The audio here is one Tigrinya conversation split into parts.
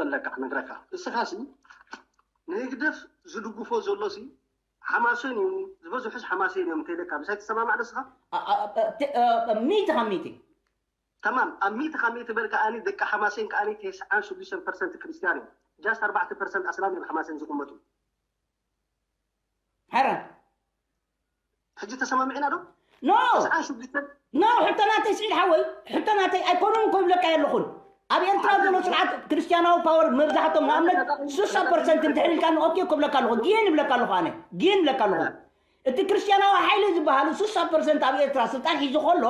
ዘለካ ክነግረካ። እስኻ ሲ ንህግደፍ ዝድግፎ ዘሎ ሲ ሓማሴን እዩ፣ ዝበዝሑስ ሓማሴን እዮም እንተኢለካ ምሳይ ትሰማማዕ ዶ እስኻ? ሚእቲ ካብ ሚእቲ። ተማም ኣብ ሚእቲ ካብ ሚእቲ በል ከኣኒ ደቂ ሓማሴን ከኣኒ ተስዓን ሽዱሽተን ፐርሰንት ክርስትያን እዮም። ጃስት ኣርባዕተ ፐርሰንት ኣስላም እዮም ሓማሴን ዝቕመጡ። ሓራን ሕጂ ተሰማሚዕና ዶ? ኖ ተስዓን ሽዱሽተን ኖ ሕቶ ናተይ ስዒድ ሓወይ፣ ሕቶ ናተይ ኣይኮኑን እኮ ይብለካ የለኹን። ኣብ ኤርትራ ዘሎ ስርዓት ክርስትያናዊ ፓወር መብዛሕቶም ንኣብነት ስሳ ፐርሰንት እንድሕር ኢልካኒ ኦኬ ክብለካ ኣለኹ፣ ግን ይብለካ ኣለኹ፣ ኣነ ግን ይብለካ ኣለኹ። እቲ ክርስትያናዊ ሓይሊ ዝበሃል ስሳ ፐርሰንት ኣብ ኤርትራ ስልጣን ሒዙ ከሎ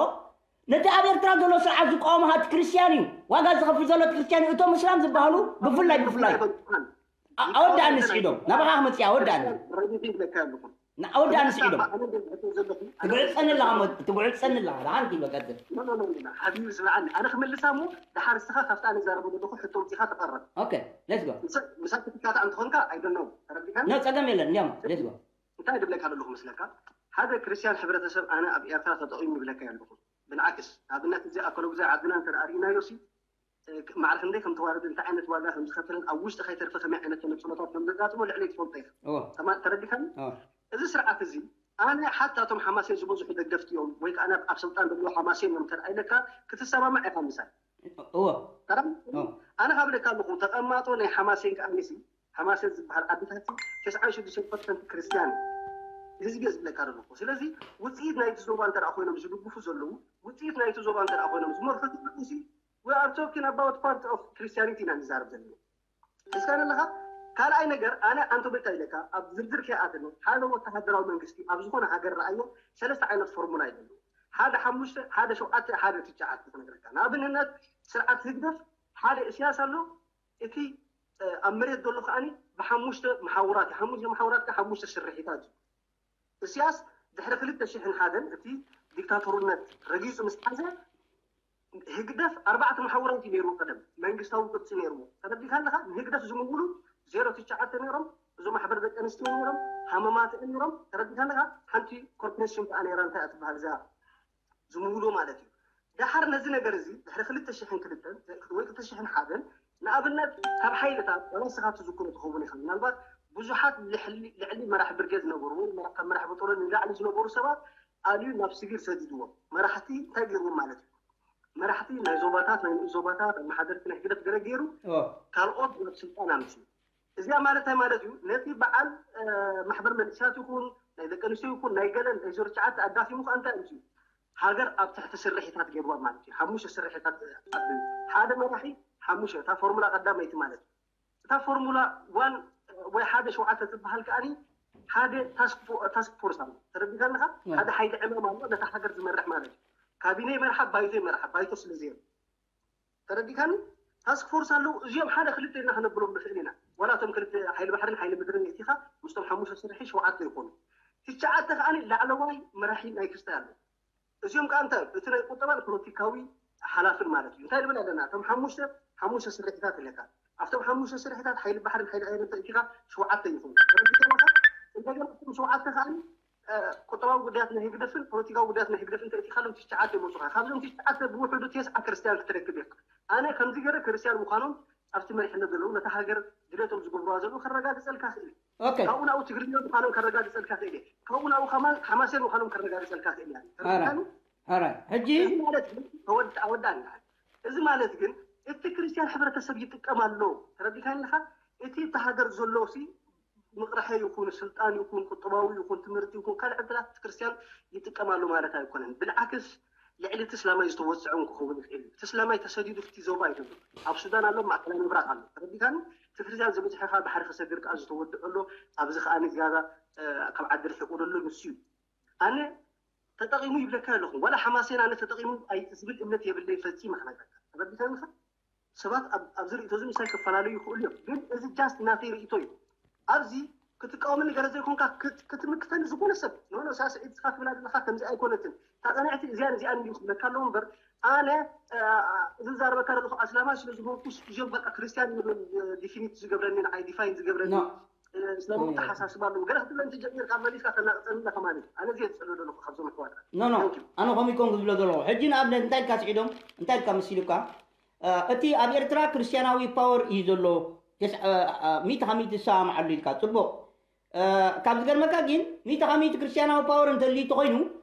ነቲ ኣብ ኤርትራ ዘሎ ስርዓት ዝቃወሞ ሃት ክርስትያን እዩ። ዋጋ ዝኸፍል ዘሎ እቲ ክርስትያን እዩ። እቶም እስላም ዝበሃሉ ብፍላይ ብፍላይ ኣ- ኣወዳእኒ ስዒዶም ናባኻ ክመፅእ ኣወዳእኒ ረዲት ይብለካ ኣለኹ። ኣወዳእኒ ስዒዶም ኣነ እንደዚህ ዘለኹ ትጉዕፀኒ ኣለኻ ሞ- ትጉዕፀኒ ኣለኻ ደሓን ክይበቀፅል ሓቢቢ ስምዓኒ፣ ኣነ ክመልሳ እሞ ድሓር እስኻ ካብቲ ኣነ ዛረበ ዘለኹ ሕቶ ውፅኢኻ ተቐረብ። ኦኬ ሌትስ ጎ ምሳት ትካታዕ እንተኾንካ ኣይደነው ተረዲካኒ። ኖ ፀገም የለን እንዲያም ሌትስ ጎ እንታይ ድብለካ ዘለኹ መስለካ? ሓደ ክርስትያን ሕብረተሰብ ኣነ ኣብ ኤርትራ ተጠቒሙ ይብለካ ኣለኹ። ብንዓክስ ንኣብነት እዚ ኣከሎ ግዜ ዓድና እንተ ርኢናዮ ሲ ማዕረ ክንደይ ከም ተዋረደ እንታይ ዓይነት ዋጋ ከም ዝኸፈለን ኣብ ውሽጢ ከይተርፈ ከመይ ዓይነት ተነፅሎታት ከም ዘጋጥሞ ልዕሊ ትፈልጦ ኢኻ። እዎ ተማ- ተረዲካኒ? እዎ እዚ ስርዓት እዚ ኣነ ሓታ እቶም ሓማሴን ዝበዝሑ ደገፍቲ እዮም ወይ ከዓ ኣብ ስልጣን ዘለዉ ሓማሴን እዮም እንተ ኢለካ ክትሰማማዕ ኢኻ ምሳይ እዎ ተረም እዎ ኣነ ካብ ለካ ኣለኹ ተቐማጦ ናይ ሓማሴን ከኣኒሲ ሓማሴን ዝበሃል ዓድታት ተስዓን ሽዱሽተ ፐርሰንት ክርስትያን ህዝቢ እየ ዝብለካ ዘለኹ። ስለዚ ውፅኢት ናይቲ ዞባ እንተ ኮይኖም ዝድግፉ ዘለዉ ውፅኢት ናይቲ ዞባ እንተ ኮይኖም ዝመርሑ ዘለዉ ሲ we are talking about part of Christianity ኢና ንዛረብ ዘለና። እስካ ኣለኻ ካልኣይ ነገር ኣነ ኣንቶ ቤታ ኢለካ ኣብ ዝርዝር ከይኣተነ ሓደ ወተሃደራዊ መንግስቲ ኣብ ዝኾነ ሃገር ረኣዮ ሰለስተ ዓይነት ፎርሙላ እዩ ዘለዎ። ሓደ ሓሙሽተ ሓደ ሸውዓተ ሓደ ትሽዓተ ክነግረካ። ንኣብነት ስርዓት ህግደፍ ሓደ እስያስ ኣሎ። እቲ ኣብ መሬት ዘሎ ከዓኒ ብሓሙሽተ መሓውራት ሓሙሽተ መሓውራት ሓሙሽተ ስርሒታት እዩ። እስያስ ድሕሪ ክልተ ሽሕን ሓደን እቲ ዲክታቶርነት ረጊጹ ምስ ሓዘ ህግደፍ ኣርባዕተ መሓውራት እዩ ነይርዎ። ቀደም መንግስታዊ ቅርጺ ነይርዎ። ተረዲካ ኣለካ? ንህግደፍ ዝምውሉ ዜሮ ትሽዓተ ነይሮም። እዞም ማሕበር ደቂ ኣንስትዮ ነይሮም፣ ሃመማት ነይሮም። ተረዲካ ኣለካ? ሓንቲ ኮርፖሬሽን ከዓ ነይራ፣ እንታይ እያ ትበሃል እዛ ዝምውሉ ማለት እዩ። ደሓር ነዚ ነገር እዚ ድሕሪ ክልተ ሽሕን ክልተን ወይ ክልተ ሽሕን ሓደን ንኣብነት ካብ ሓይልታት ዋላ ንስኻ ትዝክሮ ትኸውን ኢኻ። ምናልባት ብዙሓት ልዕሊ ልዕሊ መራሕ ብርጌድ ዝነበሩ ወይ መራሕ- ካብ መራሕ በጦሎ ንላዕሊ ዝነበሩ ሰባት ኣልዩ ናብ ሲቪል ሰዲድዎም። መራሕቲ እንታይ ገይርዎም ማለት እዩ? መራሕቲ ናይ ዞባታት ናይ ንኡስ ዞባታት ኣመሓደርቲ ናይ ህግደፍ ገለ ገይሩ እዎ ካልኦት ናብ ስልጣን ኣምፅኡ። እዚኣ ማለት እንታይ ማለት እዩ? ነቲ በዓል እ፣ ማሕበር መንእሰያት ይኹን ናይ ደቂ ኣንስትዮ ይኹን ናይ ገለን ናይ ዞርትሽዓተ ኣዳኺሙ ከኣ እንታይ ኣምፅኡ? ሃገር ኣብ ትሕቲ ስርሒታት ገይርዋ ማለት እዩ። ሓሙሽተ ስርሒታት ኣቢሉ ሓደ መራሒ ሓሙሽተ እታ ፎርሙላ ቀዳመይቲ ማለት እዩ። እታ ፎርሙላ ዋን ወይ ሓደ ሸውዓተ ትበሃል ከኣኒ ሓደ ታስክ ፎ- ታስክ ፎርስ ኣሎ። ተረዲካ ኣለካ? ያ። ሓደ ሓይሊ ዕማም ኣሎ ነታ ሃገር ዝመርሕ ማለት እዩ። ካቢነ ይመርሓ፣ ባይቶ ይመርሓ፣ ባይቶ ስለ ዘየሎ ተረዲካኒ? ታስክ ፎርስ ኣለዉ። እዚኦም ሓደ ክልተ ኢልና ክነብሎም ንኽእል ኢና። ዋላ እቶም ክልተ ሓይሊ ባሕርን ሓይሊ ምድርን የእቲኻ ምስቶም ሓሙሽተ ስርሒ ሸውዓተ ይኾኑ። ትሽዓተ ከኣኒ ላዕለዋይ መራሒ ናይ ክስታይ ኣሎ። እዚኦም ከዓ እንታይ እቲ ናይ ቁጠባን ፖለቲካዊ ሓላፍን ማለት እዩ። እንታይ ንብል ኣለና? እቶም ሓሙሽተ ሓሙሽተ ስርሒታት ኣለካ። ኣብቶም ሓሙሽተ ስርሒታት ሓይሊ ባሕርን ሓይሊ ኣየርን ተእቲኻ ሸውዓተ ይኾኑ። ተረዲካኒ? እንደገና እቶም ሸውዓተ ከኣኒ ቁጠባዊ ጉዳያት ናይ ህግደፍን ፖለቲካዊ ጉዳያት ናይ ህግደፍን ተእቲኻሎም ትሽዓተ ይመፁኻ። ካብዞም ትሽዓተ ብውሕዱ ተስዓ ክርስትያን ክትረክብ ኢኻ። ኣነ ከምዚ ገይረ ክርስትያን ምዃኖም ኣብቲ መሪሕነት ዘለዉ ነታ ሃገር ድሌቶም ዝገብሩዋ ዘለዉ ከረጋግፀልካ ክእል። ኦኬ ካብኡ ናብኡ ትግርኛ ምዃኖም ከረጋግፀልካ ክእል እየ። ካብኡ ናብኡ ከማን ሓማሴን ምዃኖም ከረጋግፀልካ ክእል እያ። ተረዲኻኒ? ሕራይ ሕጂ እዚ ማለት ግን ተወድ- ኣወዳእና። እዚ ማለት ግን እቲ ክርስትያን ሕብረተሰብ ይጥቀም ኣሎ። ተረዲኻኒ ኢኻ? እቲ እታ ሃገር ዘሎ ሲ ምቕርሐ ይኹን ስልጣን ይኹን ቁጠባዊ ይኹን ትምህርቲ ይኹን ካልእ ዕድላት እቲ ክርስትያን ይጥቀም ኣሎ ማለት ኣይኮነን። ብልዓክስ ልዕሊ እቲ እስላማይ ዝተወፅዐ እውን ክኸውን ይኽእል እዩ። እቲ እስላማይ ተሰዲዱ ፍቲ ዞባ ኣይደሎ ኣብ ሱዳን ኣሎ፣ ማእከላይ ምብራቕ ኣሎ። ተረዲኻኒ? እቲ ክርስትያን ዝበዝሐ ከዓ ባሕሪ ክሰግር ከዓ ዝተወድዐ ኣሎ። ኣብዚ ከዓ ንዝያዳ እ፣ ካብ ዓዲ ርሒቑ ዘሎ ንሱ እዩ። ኣነ ተጠቒሙ ይብለካ ኣለኹ። ዋላ ሓማሴን ኣነ ተጠቒሙ ኣይ- ዝብል እምነት የብለይ ፈጺመ ክነግረካ። ተረዲኻኒ ኢኻ? ሰባት ኣብ- ኣብዚ ርእይቶ እዚ ምሳይ ክፈላለዩ ይኽእሉ እዮም። ግን እዚ ጃስት ናተይ ርእይቶ እዩ። ኣብዚ ክትቃወመኒ ገለ ዘይኮንካ ክት- ክትምክተኒ ዝኾነ ሰብ ንሆነ ሳስዒድ ስኻ ትብላ ዘለኻ ከምዚ ኣይኮነትን። እታ ቀንዕቲ እዚኣን እዚኣን እዩ ክብለካ ኣለዎ እምበር ኣነ እ፣ ዝዛረበካ ዘለኹ ኣስላማይ ስለ ዝኾንኩ እዞም በቃ ክርስትያን እዮም ዲፊኒት ዝገብረኒ ንዓይ ዲፋይን ዝገብረኒ ኖ እ፣ ስለምኡ ተሓሳስባ ኣለዎ ገለ ክትብለ እንተጀሚርካ መሊስካ ተናቕፀኒ ኣለኻ ማለት እዩ። ኣነ እዚ እየ ዝፅልእ ዘለኹ ካብዞም ኣሕዋትና። ኖ ኖ ኣነ ከምኡ ይኮን ክዝብሎ ዘለኹ ሕጂ ንኣብነት እንታይ ኢልካ ስዒዶም እንታይ ኢልካ መሲሉካ እቲ ኣብ ኤርትራ ክርስትያናዊ ፓወር እዩ ዘሎ። ሚእቲ ካብ ሚእቲ ዝሰማማዓሉ ኢልካ ጽቡቕ። ካብ ዝገርመካ ግን ሚእቲ ካብ ሚእቲ ክርስትያናዊ ፓወር እንተልዩ ተኮይኑ፣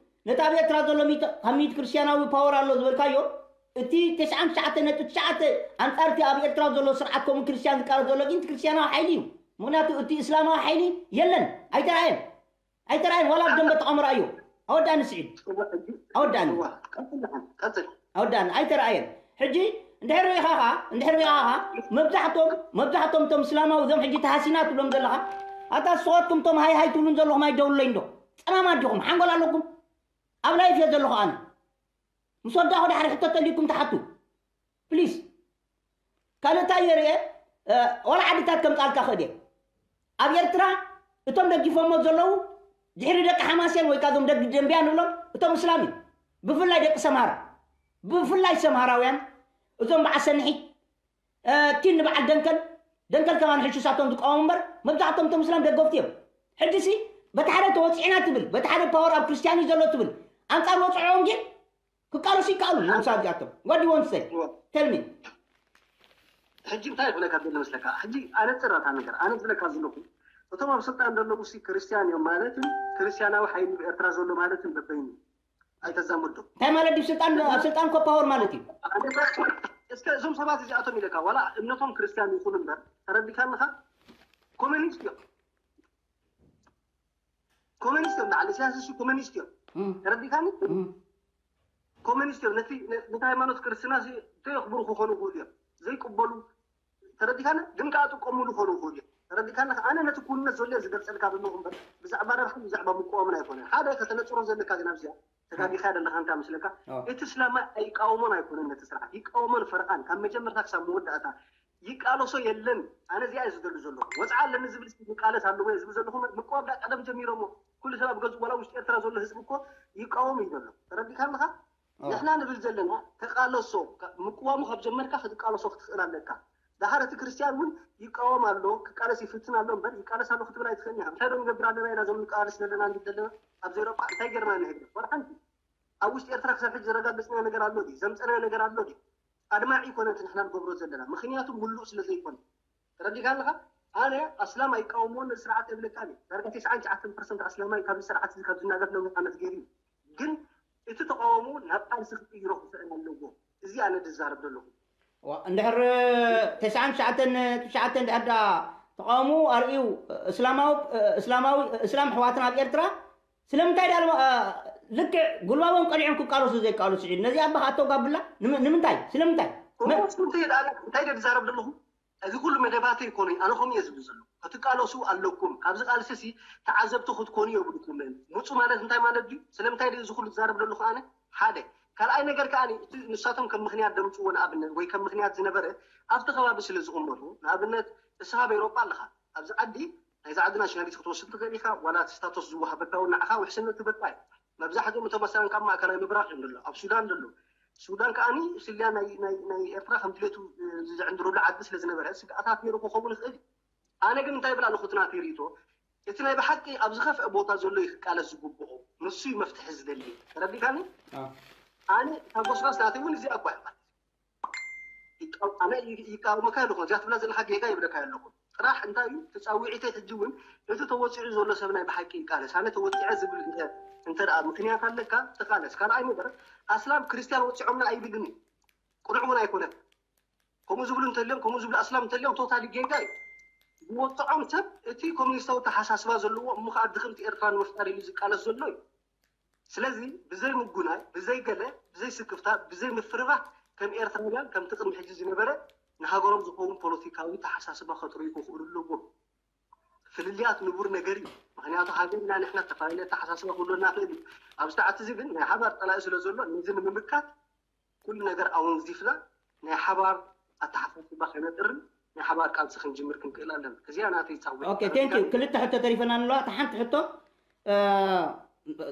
ነቲ ኣብ ኤርትራ ዘሎ ሚእቲ ካብ ሚእቲ ክርስትያናዊ ፓወር ኣሎ ዝበልካዮ፣ እቲ ተስዓን ትሽዓተ ነጥቢ ትሽዓተ ኣንጻር እቲ ኣብ ኤርትራ ዘሎ ስርዓት ከምኡ ክርስትያን ዝቃለስ ዘሎ ግን እቲ ክርስትያናዊ ሓይሊ እዩ። ምክንያቱ እቲ እስላማዊ ሓይሊ የለን፣ ኣይተራእየን። ኣይተራእየን፣ ዋላ ኣብ ደንበ ተቐምሮ ኣዮ። ኣወዳኒ ስዒድ። ኣወዳኒ። ኣወዳኒ ኣይተራእየን። ሕጂ እንድሕር ሪኢኻ ኸዓ እንድሕር ሪኢኻ ኸዓ መብዛሕቶም መብዛሕቶም እቶም እስላማዊ እዞም ሕጂ ተሃሲና ትብሎም ዘለኻ፣ ኣታ ስኻትኩም እቶም ሃይ ሃይ ትብሉን ዘለኹም ኣይደውሉለይ እንዶ? ጸማማት ዲኹም? ሓንጎል ኣለኩም? ኣብ ላይፍ እየ ዘለኹ ኣነ። ምስ ወዳኹ ድሓር ሕቶ ተልዩኩም ትሓቱ ፕሊስ። ካልእ እንታይ የርእየ? ዋላ ዓድታት ከምጻልካ ክእል እየ። ኣብ ኤርትራ እቶም ደጊፎሞ ዘለዉ ድሕሪ ደቂ ሓማስያን ወይ ከዓ እዞም ደቂ ደንብያ ንብሎም እቶም እስላም እዩ። ብፍላይ ደቂ ሰምሃር፣ ብፍላይ ሰምሃራውያን፣ እዞም በዓል ሰንሒት፣ ኪን ንበዓል ደንከል፣ ደንከል ከማን ሕሹሳቶም ዝቃወሙ እምበር መብዛሕቶም እቶም እስላም ደገፍቲ እዮም። ሕጂ ሲ በቲ ሓደ ተወፂዕና ትብል፣ በቲ ሓደ ፓወር ኣብ ክርስትያን እዩ ዘሎ ትብል፣ ኣንፃር ወፅዖም ግን ክቃለሱ ይከኣሉ እዮም። ምሳሌ እዚኣቶም what do you want to say? Tell me. ሕጂ እንታይ ይብለካ ዘሎ መስለካ? ሕጂ ኣነፅር እታ ነገር ኣነ ዝብለካ ዘለኹ እቶም ኣብ ስልጣን ዘለዉ ሲ ክርስትያን እዮም ማለትን ክርስትያናዊ ሓይሊ ኣብ ኤርትራ ዘሎ ማለትን በበይኑ ኣይተዛምዶ። እንታይ ማለት ድዩ? ስልጣን ኣብ ስልጣን እኮ ፓወር ማለት እዩ። እስከ እዞም ሰባት እዚኣቶም ኢለካ ዋላ እምነቶም ክርስትያን ይኹን እምበር ተረዲካንኻ ኮሚኒስት እዮም። ኮሚኒስት እዮም። ላዕሊ ሲያስሲ ኮሚኒስት እዮም። ተረዲካኒ? ኮሚኒስት እዮም። ነቲ ነቲ ሃይማኖት ክርስትና ተየኽብሩ ክኾኑ ይኽእሉ እዮም። ዘይቅበሉ ተረዲካኒ? ግን ከዓ ጥቀምሉ ክኾኑ ይኽእሉ እዮም። ተረዲካኒ? ኣነ ነቲ ኩነት ዘሎ ዝገልፀልካ ዘለኹ እምበር ብዛዕባ ረብሓን ብዛዕባ ምቅዋምን ኣይኮነን። ሓደ ከተነፅሮ ዘለካ ግን ኣብዚኣ ተጋጊኻ ደለኻ እንታ ምስለካ እቲ እስላማይ ኣይቃወሞን ኣይኮነን ነቲ ስርዓት ይቃወሞን ፈርቓን ካብ መጀመርታ ክሳብ መወዳእታ ይቃለሶ የለን። ኣነ እዚኣ እየ ዝደሉ ዘለኹ። ወፅዓ ኣለኒ ዝብል ይቃለስ ኣለዎ እየ ዝብል ዘለኹ። ምቅዋም ዳ ቀደም ጀሚሮሞ ኩሉ ሰብ ኣብ ገዝኡ ዋላ ውሽጢ ኤርትራ ዘሎ ህዝቢ እኮ ይቃወም እዩ ዘሎ። ተረዲካ ኣለኻ? ንሕና ንብል ዘለና ተቃለሶ ምቅዋሙ ካብ ጀመርካ ክትቃለሶ ክትኽእል ኣለካ። ዳሓር እቲ ክርስትያን እውን ይቃወም ኣሎ ክቃለስ ይፍትን ኣሎ እምበር ይቃለስ ኣሎ ክትብል ኣይትኽእልን ኢኻ። እንታይ ዶ ንገብር ኣለና ኢና እዞም ንቃለስ ዘለና ንብል ዘለና ኣብዚ ኤውሮጳ እንታይ ገርና ንህግደፍ ዋላ ሓንቲ ኣብ ውሽጢ ኤርትራ ክሳብ ሕጂ ዘረጋገጽናዮ ነገር ኣሎ ድዩ? ዘምጸናዮ ነገር ኣሎ ድዩ? ኣድማዒ ይኮነ እቲ ንሕና ንገብሮ ዘለና ምክንያቱ ሙሉእ ስለ ዘይኮነ ተረዲካ ኣለካ? ኣነ ኣስላም ኣይቃወምዎን ነዚ ስርዓት የብለካ እየ ዳርጋ ተስዓን ትሽዓተን ፐርሰንት ኣስላማይ ካብዚ ስርዓት እዚ ካብ ዝናገፍ ነዊሕ ዓመት ገይሩ እዩ ግን እቲ ተቃውሞ ናብ ቃልሲ ክቅይሮ ክኽእል ኣለዎ እዚ ኣነ ዝዛረብ ዘለኹ እንድሕር ተስዓን ትሽዓተን ትሽዓተ እንድሕር ዳ ተቃውሞ ኣርእዩ እስላማዊ እስላማዊ እስላም ኣሕዋትና ኣብ ኤርትራ ስለምንታይ ዳ ልክዕ ጉልባቦም ቀሊዖም ክቃለሱ ዘይቃለሱ ስዒድ ነዚ ኣባኻ ኣተውጋብላ ንምንታይ ስለምንታይ እንታይ ደ ዝዛረብ ዘለኹ እዚ ኩሉ መደባተ ይኮነ ኣነ ከም እየ ዝብል ዘሎ ክትቃለሱ ኣለኩም ካብዚ ቃልሲ ሲ ተዓዘብቲ ክትኮኑ የብልኩምን ምፁ ማለት እንታይ ማለት ድዩ ስለምንታይ እዚ ኩሉ ዝዛረብ ዘለኹ ኣነ ሓደ ካልኣይ ነገር ከዓ እቲ ንሳቶም ከም ምክንያት ደምፅዎ ንኣብነት ወይ ከም ምክንያት ዝነበረ ኣብቲ ከባቢ ስለ ዝቕመጡ ንኣብነት እስኻ ኣብ ኤሮጳ ኣለኻ ኣብዚ ዓዲ ናይዚ ዓዲ ናሽናሊቲ ክትወስድ ትኽእል ኢኻ ዋላ እቲ ስታቶስ ዝወሃበካ እውን ንዓኻ ውሕስነት ትበካ እዩ መብዛሕትኦም እቶም መሰለን ካብ ማእከላይ ምብራቕ እዮም ዘለዉ ኣብ ሱዳን ዘለዉ ሱዳን ከዓ ስልያ ናይ ኤርትራ ከም ድሌቱ ዝዕንድረሉ ዓዲ ስለ ዝነበረ ስግኣታት ነይሩ ክኸውን ይኽእል እዩ ኣነ ግን እንታይ ይብል ኣለኹ እቲ ናተይ ርእቶ እቲ ናይ ብሓቂ ኣብ ዝኸፍአ ቦታ ዘሎ እዩ ክቃለስ ዝግብኦ ንሱ እዩ መፍትሒ ዝደሊ ተረዲካኒ ኣነ እታ ጎስጓስ ናተይ እውን እዚኣ እኳ እያ ኣነ ይቃወመካ ኣለኹ እዚኣ ትብላ ዘለካ ጌጋ ይብለካ ኣለኹ ጥራሕ እንታይ እዩ ተፃዊዒተይ ሕጂ እውን እቲ ተወፂዑ ዘሎ ሰብ ናይ ብሓቂ ይቃለስ ኣነ ተወፂዐ ዝብል እንተ ምክንያት ኣለካ ተቃለስ ካልኣይ ነገር ኣስላም ክርስትያን ወፂዖምና ኣይብልን እዩ ቅኑዕ እውን ኣይኮነን ከምኡ ዝብሉ እንተልዮም ከምኡ ዝብሉ ኣስላም እንተልዮም ቶታሊ ጌጋ እዩ ዝወፅዖም ሰብ እቲ ኮሚኒስታዊ ተሓሳስባ ዘለዎ እሞ ከዓ ድኽምቲ ኤርትራ ንምፍጣር ኢሉ ዝቃለስ ዘሎ እዩ ስለዚ ብዘይ ምጉናይ ብዘይ ገለ ብዘይ ስክፍታ ብዘይ ምፍርራህ ከም ኤርትራውያን ከምቲ ቅድሚ ሕጂ ዝነበረ ንሃገሮም ዝኸውን ፖለቲካዊ ተሓሳስባ ከጥርዩ ክኽእሉ ኣለዎም ፍልልያት ንቡር ነገር እዩ ምክንያቱ ሃገር ኢና ንሕና ዝተፈላለየ ተሓሳስባ ክህልወና ክእል እዩ ኣብ ሰዓት እዚ ግን ናይ ሓባር ጠላኢ ስለ ዘሎ ነዚ ንምምካት ኩሉ ነገር ኣወንዚፍና ናይ ሓባር ኣተሓሳስባ ከነጥርን ናይ ሓባር ቃልሲ ክንጅምር ክንክእል ኣለና። እዚኣ ናተይ ፃውዒት። ኦኬ፣ ቴንክ ዩ። ክልተ ሕቶ ተሪፈና ኣለዋ። እታ ሓንቲ ሕቶ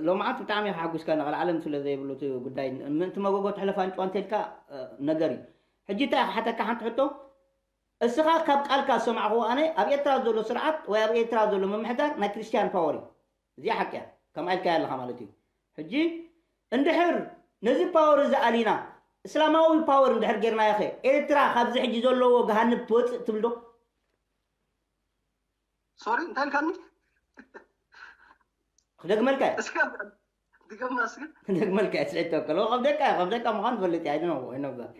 ሎምዓንቲ ብጣዕሚ ሓጒስካ ንቐልዓለም ስለ ዘይብሉ እቲ ጉዳይ ምእንቲ መጎጎ ትሕለፍ ኣንጭዋ እንተልካ ነገር እዩ። ሕጂ እንታይ ክሓተካ ሓንቲ ሕቶ እስኻ ካብ ቃልካ ዝሰማዕኹዎ ኣነ ኣብ ኤርትራ ዘሎ ስርዓት ወይ ኣብ ኤርትራ ዘሎ ምምሕዳር ናይ ክርስትያን ፓወር እዩ። እዚኣ ሓቂ እያ። ከምኣ ኢልካያ ኣለኻ ማለት እዩ። ሕጂ እንድሕር ነዚ ፓወር እዚ ኣሊና እስላማዊ ፓወር እንድሕር ጌርናዮ ኸ ኤርትራ ካብዚ ሕጂ ዘለዎ ገሃንብ ትወፅእ ትብል ዶ? ሶሪ እንታይ ኢልካኒ? ክደግመልካ እየ። እስከ ድገማ እስከ። ክደግመልካ እየ። ስዒድ ተወከል ከም ደቃ ከም ደቃ ምዃን ትፈልጥ እያ። I don't know, I know that.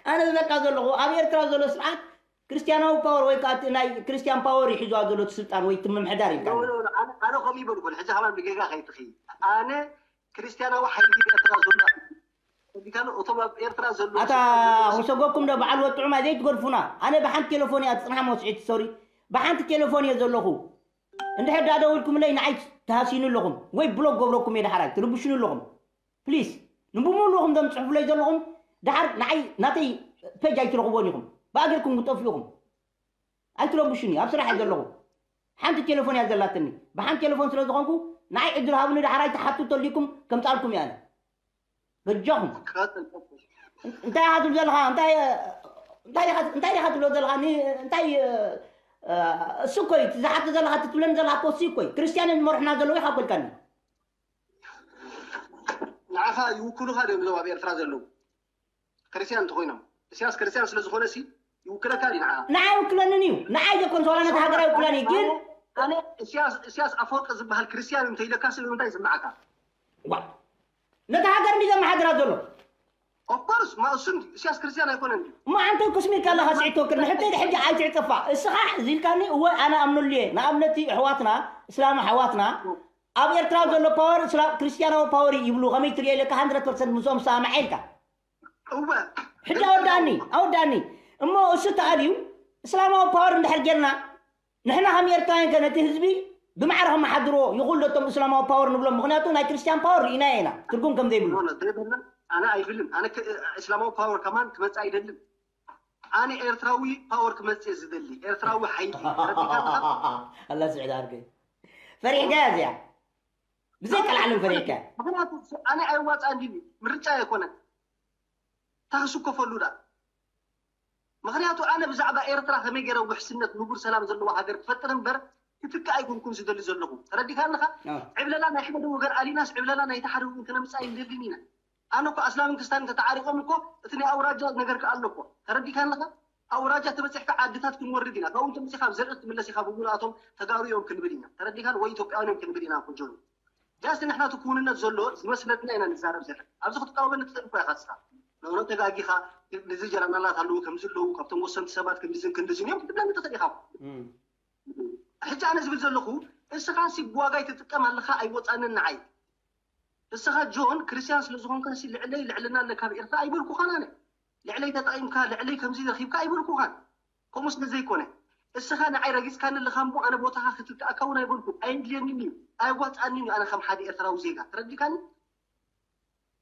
ኣነ ዝብለካ ዘለኹ ኣብ ኤርትራ ዘሎ ስርዓት ክርስትያናዊ ፓወር ወይ ከዓ እቲ ናይ ክርስትያን ፓወር እዩ ሒዝዋ ዘሎ እቲ ስልጣን ወይ እቲ ምምሕዳር ኢልካ ኖ፣ ኖ፣ ኖ፣ ኣነ ኣነ ከምኡ ይበልኩን ሕጂ ከማን ብጌጋ ከይትኺ ኣነ ክርስትያናዊ ሓይሊ ኤርትራ ዘሎ ዲካን እቶም ኣብ ኤርትራ ዘሎ ኣታ ክሰጎኩም ዶ በዓል ወጥዑማ ዘይትገድፉና። ኣነ ብሓንቲ ቴሌፎን እያ ትፅንሓ መስዒት ሶሪ ብሓንቲ ቴሌፎን እየ ዘለኹ። እንድሕር ዳ ደውልኩምለይ ንዓይ ትሃስዩኒ ኣለኹም ወይ ብሎክ ገብረኩም እየ። ዳሕራይ ትርብሹኒ ኣለኹም። ፕሊስ ንብምሉኹም ዶም ፅሑፍለይ ዘለኹም። ዳሓር ንዓይ ናተይ ፔጅ ኣይትረኽቦን ኢኹም። ብኣገርኩም ክጠፍኡ ኢኹም። ኣይትረብሹኒ ኣብ ስራሕ እየ ዘለኹ። ሓንቲ ቴሌፎን እያ ዘላትኒ። ብሓንቲ ቴሌፎን ስለ ዝኾንኩ ንዓይ ዕድል ሃብኒ። ዳሓራይ ትሓቱ ተልይኩም ከምፃልኩም እየ ኣነ። በጃኹም እንታይ ኢኻ ትብል ዘለኻ? እንታይ እንታይ ኢኻ እንታይ ኢኻ ትብሎ ዘለኻ? ኒ- እንታይ እ፣ እሱ እኮ እዩ ዝሓቶ ዘለኻ ትብለኒ ዘለኻ እኮ እሱ እኮ እዩ። ክርስትያን እዮም ዝመርሑና ዘለዉ ኢኻ ኮልካኒ። ንዓኻ ይውክሉኻ ድዮም እዞም ኣብ ኤርትራ ዘለዉ ክርስትያን እንተኮይኖም? እስያስ ክርስትያን ስለ ዝኾነ ሲ ይውክለካ ድዩ ንዓኻ? ንዓይ ይውክለንን እዩ። ንዓይ ዘኮን ዋላ ነቲ ሃገር ኣይውክለን እዩ ግን ኣነ እስያስ እስያስ ኣፈወርቂ ዝበሃል ክርስትያን እንተይለካ ሲ እንታይ ይስምዓካ? ዋ ነቲ ሃገር እንዲ ዘመሓድራ ዘሎ ኦፍኮርስ ማእሱን እስያስ ክርስትያን ኣይኮነን ድዩ? እሞ ኣንተ ክስሚልካ ኣለኻ ስዒድ ተወክል ንሕተይ ድሕጂ ኣይትዕጠፋ እስኻ እዚልካኒ እወ ኣነ ኣምነሉ እየ። ንኣብነት ኣሕዋትና እስላም ኣሕዋትና ኣብ ኤርትራ ዘሎ ፓወር እስላም ክርስትያናዊ ፓወር እዩ ይብሉ። ከመይ ትሪኦ ኢለካ ሃንድረድ ፐርሰንት ምስኦም ሰማምዐ ኢልካ። እወ ሕጂ ኣወዳኒ ኣወዳኒ እሞ እሱ ተኣልዩ እስላማዊ ፓወር እንድሕር ጌርና ንሕና ከም ኤርትራውያን ከ ነቲ ህዝቢ ብማዕረ ከመሓድርዎ ይኽእሉ ዶ እቶም እስላማዊ ፓወር ንብሎም? ምኽንያቱ ናይ ክርስትያን ፓወር ርኢናዮ ኢና ትርጉም ከም ዘይብሉ። ኖ፣ ኖ፣ ዘይብልና ኣነ ኣይብልን። ኣነ ከ- እስላማዊ ፓወር ከማን ክመጽእ ኣይደልን። ኣነ ኤርትራዊ ፓወር ክመጽእ ዝደሊ ኤርትራዊ ሓይሊ ተረዲካ ኣለኻ? ኣላ ስዕድ ዓርከይ ፈሪሕካ እያ እዚኣ ብዘይ ቀልዓለም ፈሪሕካ። ምክንያቱ ኣነ ኣይዋፃ እንዲ ምርጫ ኣይኮነን። ታክስከፈሉ ዳ ምክንያቱ ኣነ ብዛዕባ ኤርትራ ከመይ ገይረ ውሕስነት ንቡር ሰላም ዘለዎ ሃገር ክፈጥር እምበር ክትክእ ኣይኮንኩን ዝደሊ ዘለኹ። ተረዲካ ኣለካ? ኣዎ። ዕብለላ ናይ ሓደ ወገን ኣሊናስ ዕብለላ ናይቲ ሓደ ወገን ክነምፅእ ኣይንደልን ኢና። ኣነ እኮ ኣስላምን ክስታንን ተተዓሪቆም እኮ እቲ ናይ ኣውራጃ ነገር ከ ኣሎ እኮ። ተረዲካ ኣለካ? ኣውራጃ ተበፂሕካ ዓድታት ክንወርድ ኢና። ካብኡ ተምፂኻ ኣብ ዘርኢ ትምለስ ኢኻ ብሙሉኣቶም ተጋሩ እዮም ክንብል ኢና። ተረዲካን ወይ ኢትዮጵያውያን እዮም ክንብል ኢና። ኮጆኒ ጃስት ንሕና እቲ ክውንነት ዘሎ ዝመስለትና ኢና ንዛረብ ዘለና። ኣብዚ ክትቃወመኒ ትኽእል እኮ ኢኻ ንስኻ። ንእውነት ተጋጊኻ። እዚ ጀነራላት ኣለዉ ከምዚ ኣለዉ ካብቶም ወሰንቲ ሰባት ክንድዝን ክንድዝን እዮም ክትብለኒ ትኽእል ኢኻ። ሕጂ ኣነ ዝብል ዘለኹ እስኻ ሲ ብዋጋ ይትጥቀም ኣለኻ ኣይወፃንን ንዓይ። እስኻ ጆን ክርስትያን ስለ ዝኾንካ ሲ ልዕለይ ልዕልና ኣለካ ኣብ ኤርትራ ኣይበልኩኻን ኣነ። ልዕለይ ተጠቒምካ ልዕለይ ከምዚ ረኺብካ ኣይበልኩኻን። ከምኡ ስለ ዘይኮነ እስኻ ንዓይ ረጊፅካኒ ኣለኻ እሞ ኣነ ቦታኻ ክትክኣካ እውን ኣይበልኩ ኣይድልየንን እዩ። ኣየዋፅኣንን እዩ ኣነ ከም ሓደ ኤርትራዊ ዜጋ ተረዲካኒ።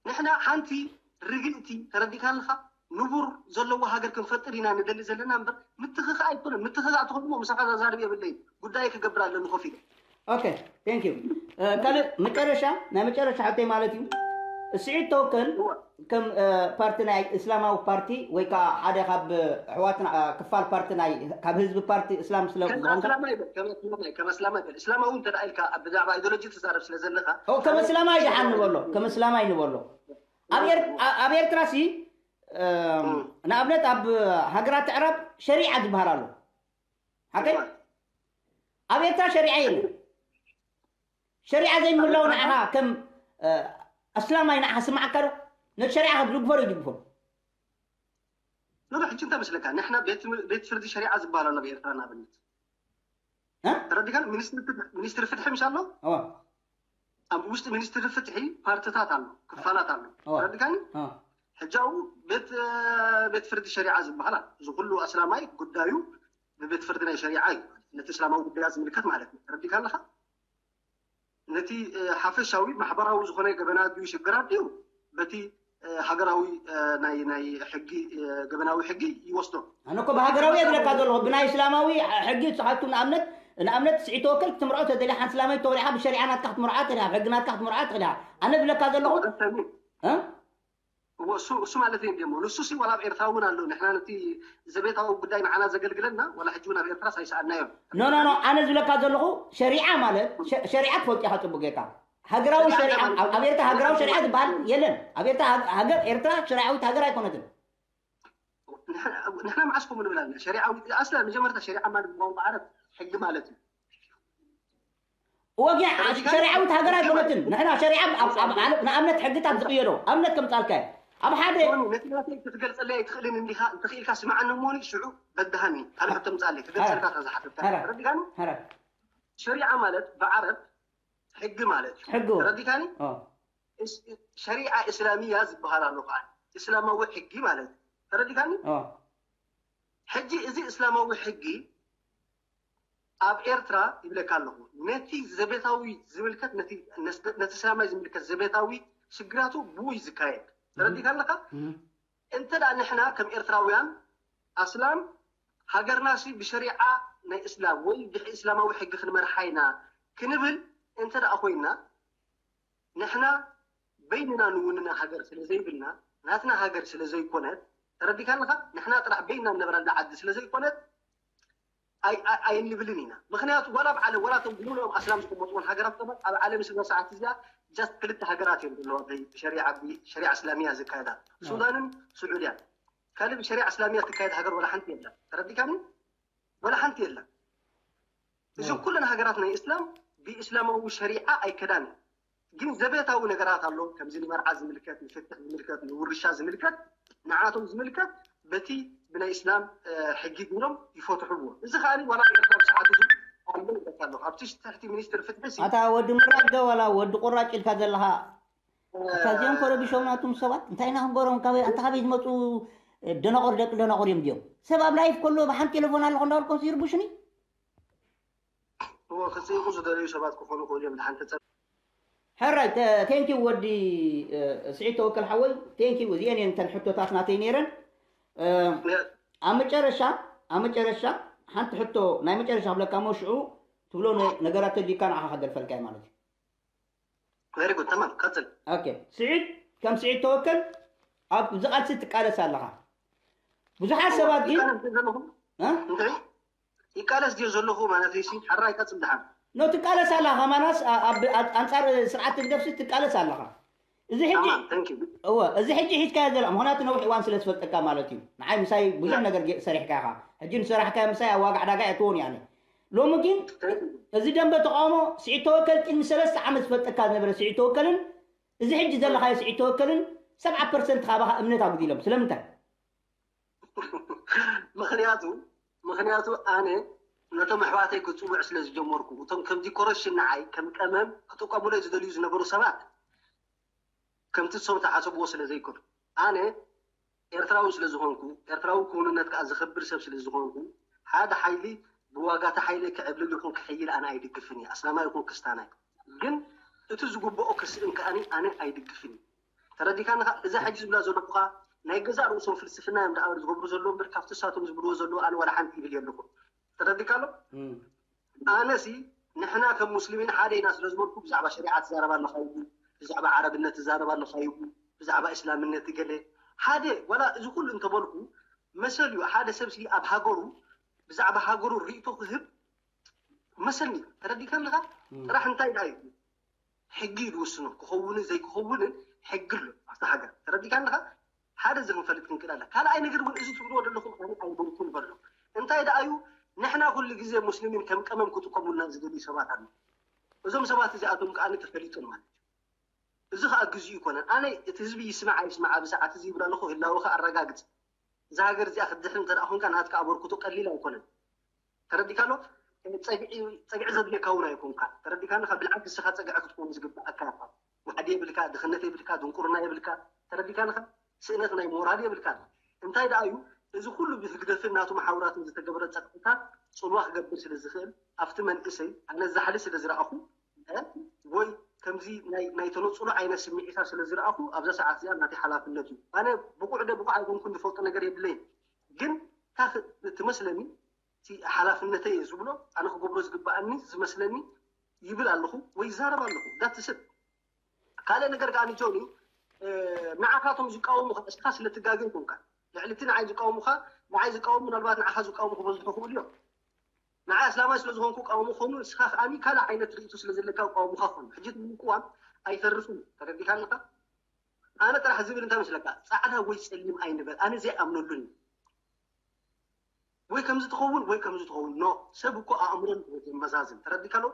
ንሕና ሓንቲ ርግእቲ ተረዲካ ኣለካ ንቡር ዘለዎ ሃገር ክንፈጥር ኢና ንደሊ ዘለና እምበር ምትኽኻእ ኣይኮነን። ምትኽኻእ ተኾይኑ ምሳኻ ዛዛርብ የብለይ ጉዳይ ክገብር ኣለኒ ኮፍ ኢለ። ኦኬ ቴንክ ዩ። ካልእ መጨረሻ ናይ መጨረሻ ሕቶይ ማለት እዩ። ስዒድ ተወከል ከም ፓርቲ ናይ እስላማዊ ፓርቲ ወይ ከዓ ሓደ ካብ ኣሕዋትና ክፋል ፓርቲ ናይ ካብ ህዝቢ ፓርቲ እስላም ስለ ዝኾንካ ከም ኣስላማይ በል ከም ኣስላማይ ከም ኣስላማይ በል እስላማዊ እንተ ኢልካ ብዛዕባ ኣይዲዮሎጂ ትዛረብ ስለ ዘለካ ኦ፣ ከም እስላማይ ደሓን ንበሎ ከም እስላማይ ንበሎ ኣብ ኤር- ኣ- ኣብ ኤርትራ ሲ እም፣ ንኣብነት ኣብ ሃገራት ኣዕራብ ሸሪዓ ዝበሃል ኣሎ ሓቀይ ኣብ ኤርትራ ሸሪዓ የለን ሸሪዓ ዘይምህላው ንዓኻ ከም እ፣ ኣስላማይ ንዓኻ ስምዓካ ዶ ነቲ ሸሪዓ ክትድግፎ ዶ ይድግፎ ኖ ሕጂ እንታይ መስለካ ንሕና ቤት ትም- ቤት ፍርዲ ሸሪዓ ዝበሃል ኣሎ ኣብ ኤርትራ ንኣብነት እ? ተረዲካ ሚኒስትሪ ፍትሒ- ሚኒስትሪ ፍትሒ ምሽ ኣሎ እዋ ኣብ ውሽጢ ሚኒስትሪ ፍትሒ ፓርትታት ኣሎ ክፋላት ኣሎ እዋ። ተረዲካኒ እ፣ ሕጂ ኣብኡ ቤት እ፣ ቤት ፍርዲ ሸሪዓ ዝበሃል ኣሎ እዚ ኩሉ ኣስላማይ ጉዳዩ ብቤት ፍርዲ ናይ ሸሪዓ እዩ ነቲ እስላማዊ ጉዳያት ዝምልከት ማለት እዩ ተረዲካ ኣለካ ነቲ እ፣ ሓፈሻዊ ማሕበራዊ ዝኾነ ገበናት ድዩ ሽግራት ድዩ በቲ እ፣ ሃገራዊ እ፣ ናይ ናይ ሕጊ እ፣ ገበናዊ ሕጊ ይወስዶ ኣነ እኮ ብሃገራዊ እየ ዝብለካ ዘለኹ ብናይ እስላማዊ ሕጊ ንስኻትኩም ንኣብነት ንኣብነት ስዒድ ተወከል ክትምርዖ ተደልያ ሓንቲ እስላማዊት ተወሊዕካ ብሸሪዓ ናትካ ክትምርዓ ትኽእል ኢኻ ብሕጊ ናትካ ክትምርዓ ትኽእል ኢኻ ኣነ ዝብለካ ዘለኹ እ? እዎ እሱ እሱ ማለት እዩ እንዲሞ ንሱ ሲ ዋላ ኣብ ኤርትራ እውን ኣሎ ንሕና ነቲ ዘቤታዊ ጉዳይ ንዓና ዘገልግለና ዋላ ሕጂ እውን ኣብ ኤርትራ ሳይሰኣናዮም ኖ ኖ ኖ ኣነ ዝብለካ ዘለኹ ሸሪዓ ማለት ሸ- ሸሪዓ ትፈልጡ ኢኻ ፅቡቅ ጌርካ ሃገራዊ ሸሪዓ ኣብ ኤርትራ ሃገራዊ ሸሪዓ ዝበሃል የለን። ኣብ ኤርትራ ሃገር ኤርትራ ሸሪዓዊት ሃገር ኣይኮነትን። ንሕና መዓስ ከምኡ ንብል ኣለና? ሸሪዓዊ ኣስላ መጀመርታ ሸሪዓ ማለት ብቋንቋ ዓረብ ሕጊ ማለት እዩ። ወጊ ሸሪዓዊት ሃገር ኣይኮነትን። ንሕና ሸሪዓ ንኣብነት ሕግታት ዝቅየዶ ኣብነት ከምጻልካ ኣብ ሓደ ክትገልጸለይ ኣይትኽእልን እንዲኻ እንተኽኢልካ ስማዓኒ እሞኒ ሽዑ በድሃኒ ካልእ ሕቶ ምጻለይ ክገልጸልካ ዝሓተትካ ረዲጋኒ። ሸሪዓ ማለት ብዓረብ ሕጊ ማለት እዩ። ሕጊ ተረዲካኒ? ሸሪዓ እስላሚያ ዝበሃል ኣሎ ከዓ እስላማዊ ሕጊ ማለት እዩ። ተረዲካኒ? ሕጂ እዚ እስላማዊ ሕጊ ኣብ ኤርትራ ይብለካ ኣለኹ ነቲ ዘቤታዊ ዝምልከት ነቲ እስላማይ ዝምልከት ዘቤታዊ ሽግራቱ ብኡ እዩ ዝካየድ። ተረዲካ ኣለካ? እንተ ደኣ ንሕና ከም ኤርትራውያን ኣስላም ሃገርናሲ ብሸሪዓ ናይ እስላም ወይ ብእስላማዊ ሕጊ ክንመርሓ ኢና ክንብል እንተ ደኣ ኮይና ንሕና በይንና ንውንና ሃገር ስለ ዘይብልና ናትና ሃገር ስለ ዘይኮነት ተረዲካ ኣለካ ንሕና ጥራሕ በይንና ንነብረላ ዓዲ ስለ ዘይኮነት ኣይንብልን ኢና። ምክንያቱ ዋላ ኣብ ዓለም ዋላ እቶም ብምሉኦም ኣስላም ዝቅመጥዎን ሃገራት ሰባት ኣብ ዓለም ስለ ሰዓት እዚኣ ጃስት ክልተ ሃገራት እዮም ዘለዋ ብሸሪዓ ብሸሪዓ እስላሚያ ዝካየዳ ሱዳንን ስዑድያን። ካልእ ብሸሪዓ እስላሚያ ትካየድ ሃገር ዋላ ሓንቲ የላ። ተረዲካኒ? ዋላ ሓንቲ የላ። እዞም ኩለን ሃገራት ናይ እስላም ብእስላማዊ ሸሪዓ ኣይከዳን። ግን ዘቤታዊ ነገራት ኣሎ ከምዚ ንመርዓ ዝምልከት ንፍትሕ ዝምልከት ንውርሻ ዝምልከት ንዓቶም ዝምልከት በቲ ብናይ እስላም ሕጊ ግብሮም ይፈትሕዎ። እዚ ከዓ ዋላ ኤርትራ ብሰዓት እዚ ኣሎ ይበካ ኣለኹ ኣብቲ ትሕቲ ሚኒስትር ፍትሒ ሲ ኣታ ወዲ ምራገ ዋላ ወዲ ቁራጭ ኢልካ ዘለኻ እታ እዚኦም ኮረቢሾም ናቱም ሰባት እንታይ ኢና ክንገሮም ካበይ ኣንታ ካበይ ዝመፁ ደናቆር ደቂ ደናቆር እዮም ድዮም ሰብ ኣብ ላይፍ ከሎ ብሓንቲ ቴሌፎን ኣለኹ እንዳበልኮም ይርቡሽኒ እዎ ክፅይቁ ዝደለዩ ሰባት ክኾኑ ክእሉ እዮም ድሓን ተፀ ሕራይ thank you ወዲ ስዒድ ተወከል ሓወይ thank you እዚአን እየን እተን ሕቶታት ናተይ ነይረን ኣብ መጨረሻ ኣብ መጨረሻ ሓንቲ ሕቶ ናይ መጨረሻ ክብለካ እሞ ሽዑ ትብሎ ነገራት ተድልዩካ ንዓኻ ከደርፈልካ እዩ ማለት እዩ very good ተማም ቀፅል okay ስዒድ ከም ስዒድ ተወከል ኣብዚ ቃልሲ ትቃለስ ኣለኻ ብዙሓት ሰባት ግን ይቃለስ ድዮ ዘለኹ ማለት እዩ። ሓራይ ቀጽል ድሓን ኖ ትቃለስ ኣላ ከማናስ ኣንጻር ስርዓት ህግደፍሲ ትቃለስ ኣለኻ። እዚ ሕጂ እወ እዚ ሕጂ ሒዝካዮ ዘላ ምክንያቱ ነዊሕ እዋን ስለ ዝፈልጠካ ማለት እዩ። ንዓይ ምሳይ ብዙሕ ነገር ሰሪሕካ ኢኻ። ሕጂ ንሰራሕካዮ ምሳይ ኣብ ዋጋ ዕዳጋ እየትዎን እየ ኣነ። ሎሚ ግን እዚ ደንበ ተቃውሞ ስዒድ ተወከል ቅድሚ ሰለስተ ዓመት ዝፈልጠካ ዝነበረ ስዒድ ተወከልን እዚ ሕጂ ዘለኻዮ ስዒድ ተወከልን ሰብዓ ፐርሰንት ካባኻ እምነት ኣጉዲሎም። ስለምንታይ? ምክንያቱ ምክንያቱ ኣነ ነቶም ኣሕዋተይ ክፅውዕ ስለ ዝጀመርኩ እቶም ከም ዲኮሬሽን ንዓይ ከም ቀመም ክጥቀሙሎ ዝደልዩ ዝነበሩ ሰባት ከምቲ እሶም ተሓሰብዎ ስለ ዘይኮኑ ኣነ ኤርትራዊ ስለ ዝኾንኩ ኤርትራዊ ክውንነት ከዓ ዝኽብር ሰብ ስለ ዝኾንኩ ሓደ ሓይሊ ብዋጋ እቲ ሓይሊ ክዕብልል ይኹን ክሕይል ኣነ ኣይድግፍን እየ ኣስላማይ ይኹን ክስታናይ ግን እቲ ዝግብኦ ክስእን ከኣኒ ኣነ ኣይድግፍን እየ ተረዲካኒ ከ እዛ ሕጂ ዝብላ ዘለኹ ከ ናይ ገዛእ ርእሶም ፍልስፍና እዮም ደኣ ዝገብሩ ዘለዉ እምበር ካብቲ እሳቶም ዝብልዎ ዘለዉ ኣነ ዋላ ሓንቲ ይብል የለኹን ተረዲካ ኣሎ ኣነሲ ንሕና ከም ሙስሊሚን ሓደ ኢና ስለ ዝበልኩ ብዛዕባ ሸሪዓ ትዛረብ ኣለኻ ይቡ ብዛዕባ ዓረብነት ትዛረብ ኣለኻ ይቡ ብዛዕባ እስላምነት ገለ ሓደ ዋላ እዚ ኩሉ እንተበልኩ መሰል እዩ ሓደ ሰብ ሲ ኣብ ሃገሩ ብዛዕባ ሃገሩ ርእቶ ክህብ መሰል እዩ ተረዲካ ኣለኻ ጥራሕ እንታይ ደኣ እዩ ሕጊ እዩ ዝውስኖ ክኸውንን ዘይክኸውንን ሕጊ ኣሎ ኣብቲ ሃገር ተረዲካ ኣለኻ ሓደ እዚ ክንፈልጥ ክንክእል ኣለ ካልኣይ ነገር እውን እዚ ትብልዎ ዘለኹም ኣነ ኣይበልኩን በሎ እንታይ ደኣ እዩ ንሕና ኩሉ ግዜ ሙስሊሚን ከም ቀመም ክጥቀሙልና ዝደልዩ ሰባት ኣሎ እዞም ሰባት እዚኣቶም ከዓ ተፈሊጦም ማለት እዩ እዚ ከዓ ግዜኡ ይኮነን ኣነ እቲ ህዝቢ ይስማዕ ኣይስማዕ ኣብ ሰዓት እዚ ይብል ኣለኹ ህላወ ከዓ ኣረጋግፅ እዛ ሃገር እዚኣ ክትድሕን እንተ ደኣ ኮንካ ናትካ ኣበርክቶ ቀሊል ኣይኮነን ተረዲካ ኣሎ ፀግዒ ዘድልየካ እውን ኣይኮንካ ተረዲካ ኣለካ ብልዓል ንስኻ ፀግዒ ክትከውን ዝግብኣካ ኢኻ ዋሕዲ የብልካ ድኽነት የብልካ ድንቁርና የብልካ ተረዲካ ኣለካ ስእነት ናይ ሞራል የብልካ እንታይ ደኣ እዩ እዚ ኩሉ ብህግደፍን ናቱ መሓውራትን ዝተገበረ ፀቕጥታት ፅልዋ ክገብር ስለ ዝኽእል ኣብቲ መንእሰይ ኣነ ዛሕሊ ስለ ዝረኣኹ ወይ ከምዚ ናይ ተነፅሎ ዓይነት ስምዒታት ስለ ዝረኣኹ ኣብዛ ሰዓት እዚኣ ናተይ ሓላፍነት እዩ ኣነ ብቑዕ ደ ብቑዕ ኣይኮንኩን ዝፈልጦ ነገር የብለይን ግን ትመስለኒ ሓላፍነተይ እየ ዝብሎ ኣነ ክገብሮ ዝግበኣኒ ዝመስለኒ ይብል ኣለኹ ወይ ይዛረብ ኣለኹ that's it ካልእ ነገር ከዓ ንጆኒ ንዓኻቶም ዝቃወሙኻ እስኻ ስለ ትጋገ ይኮንካ ልዕሊ እቲ ንዓይ ዝቃወሙኻ ንዓይ ዝቃወሙ ምናልባት ንዓኻ ዝቃወሙ ክበዝሑ ክኽእሉ እዮም ንዓይ ኣስላማይ ስለ ዝኾንኩ እቃወሞ ክኾኑ፣ ንስኻ ከኣ ካልእ ዓይነት ርእይቶ ስለ ዘለካ እቃወሙኻ ክኾኑ። ሕጂ እቲ ምቅዋም ኣይተርፍን እዩ። ተረዲእካኒ ኢኻ? ኣነ ጥራሕ ዝብል እንታይ መስለካ? ጻዕዳ ወይ ጸሊም ኣይንበል። ኣነ ዘይኣምነሉን እዩ። ወይ ከምዚ ትኸውን ወይ ከምዚ ትኸውን። ኖ፣ ሰብ እኮ ኣእምሮን ዘመዛዝን። ተረዲእካ ዶ?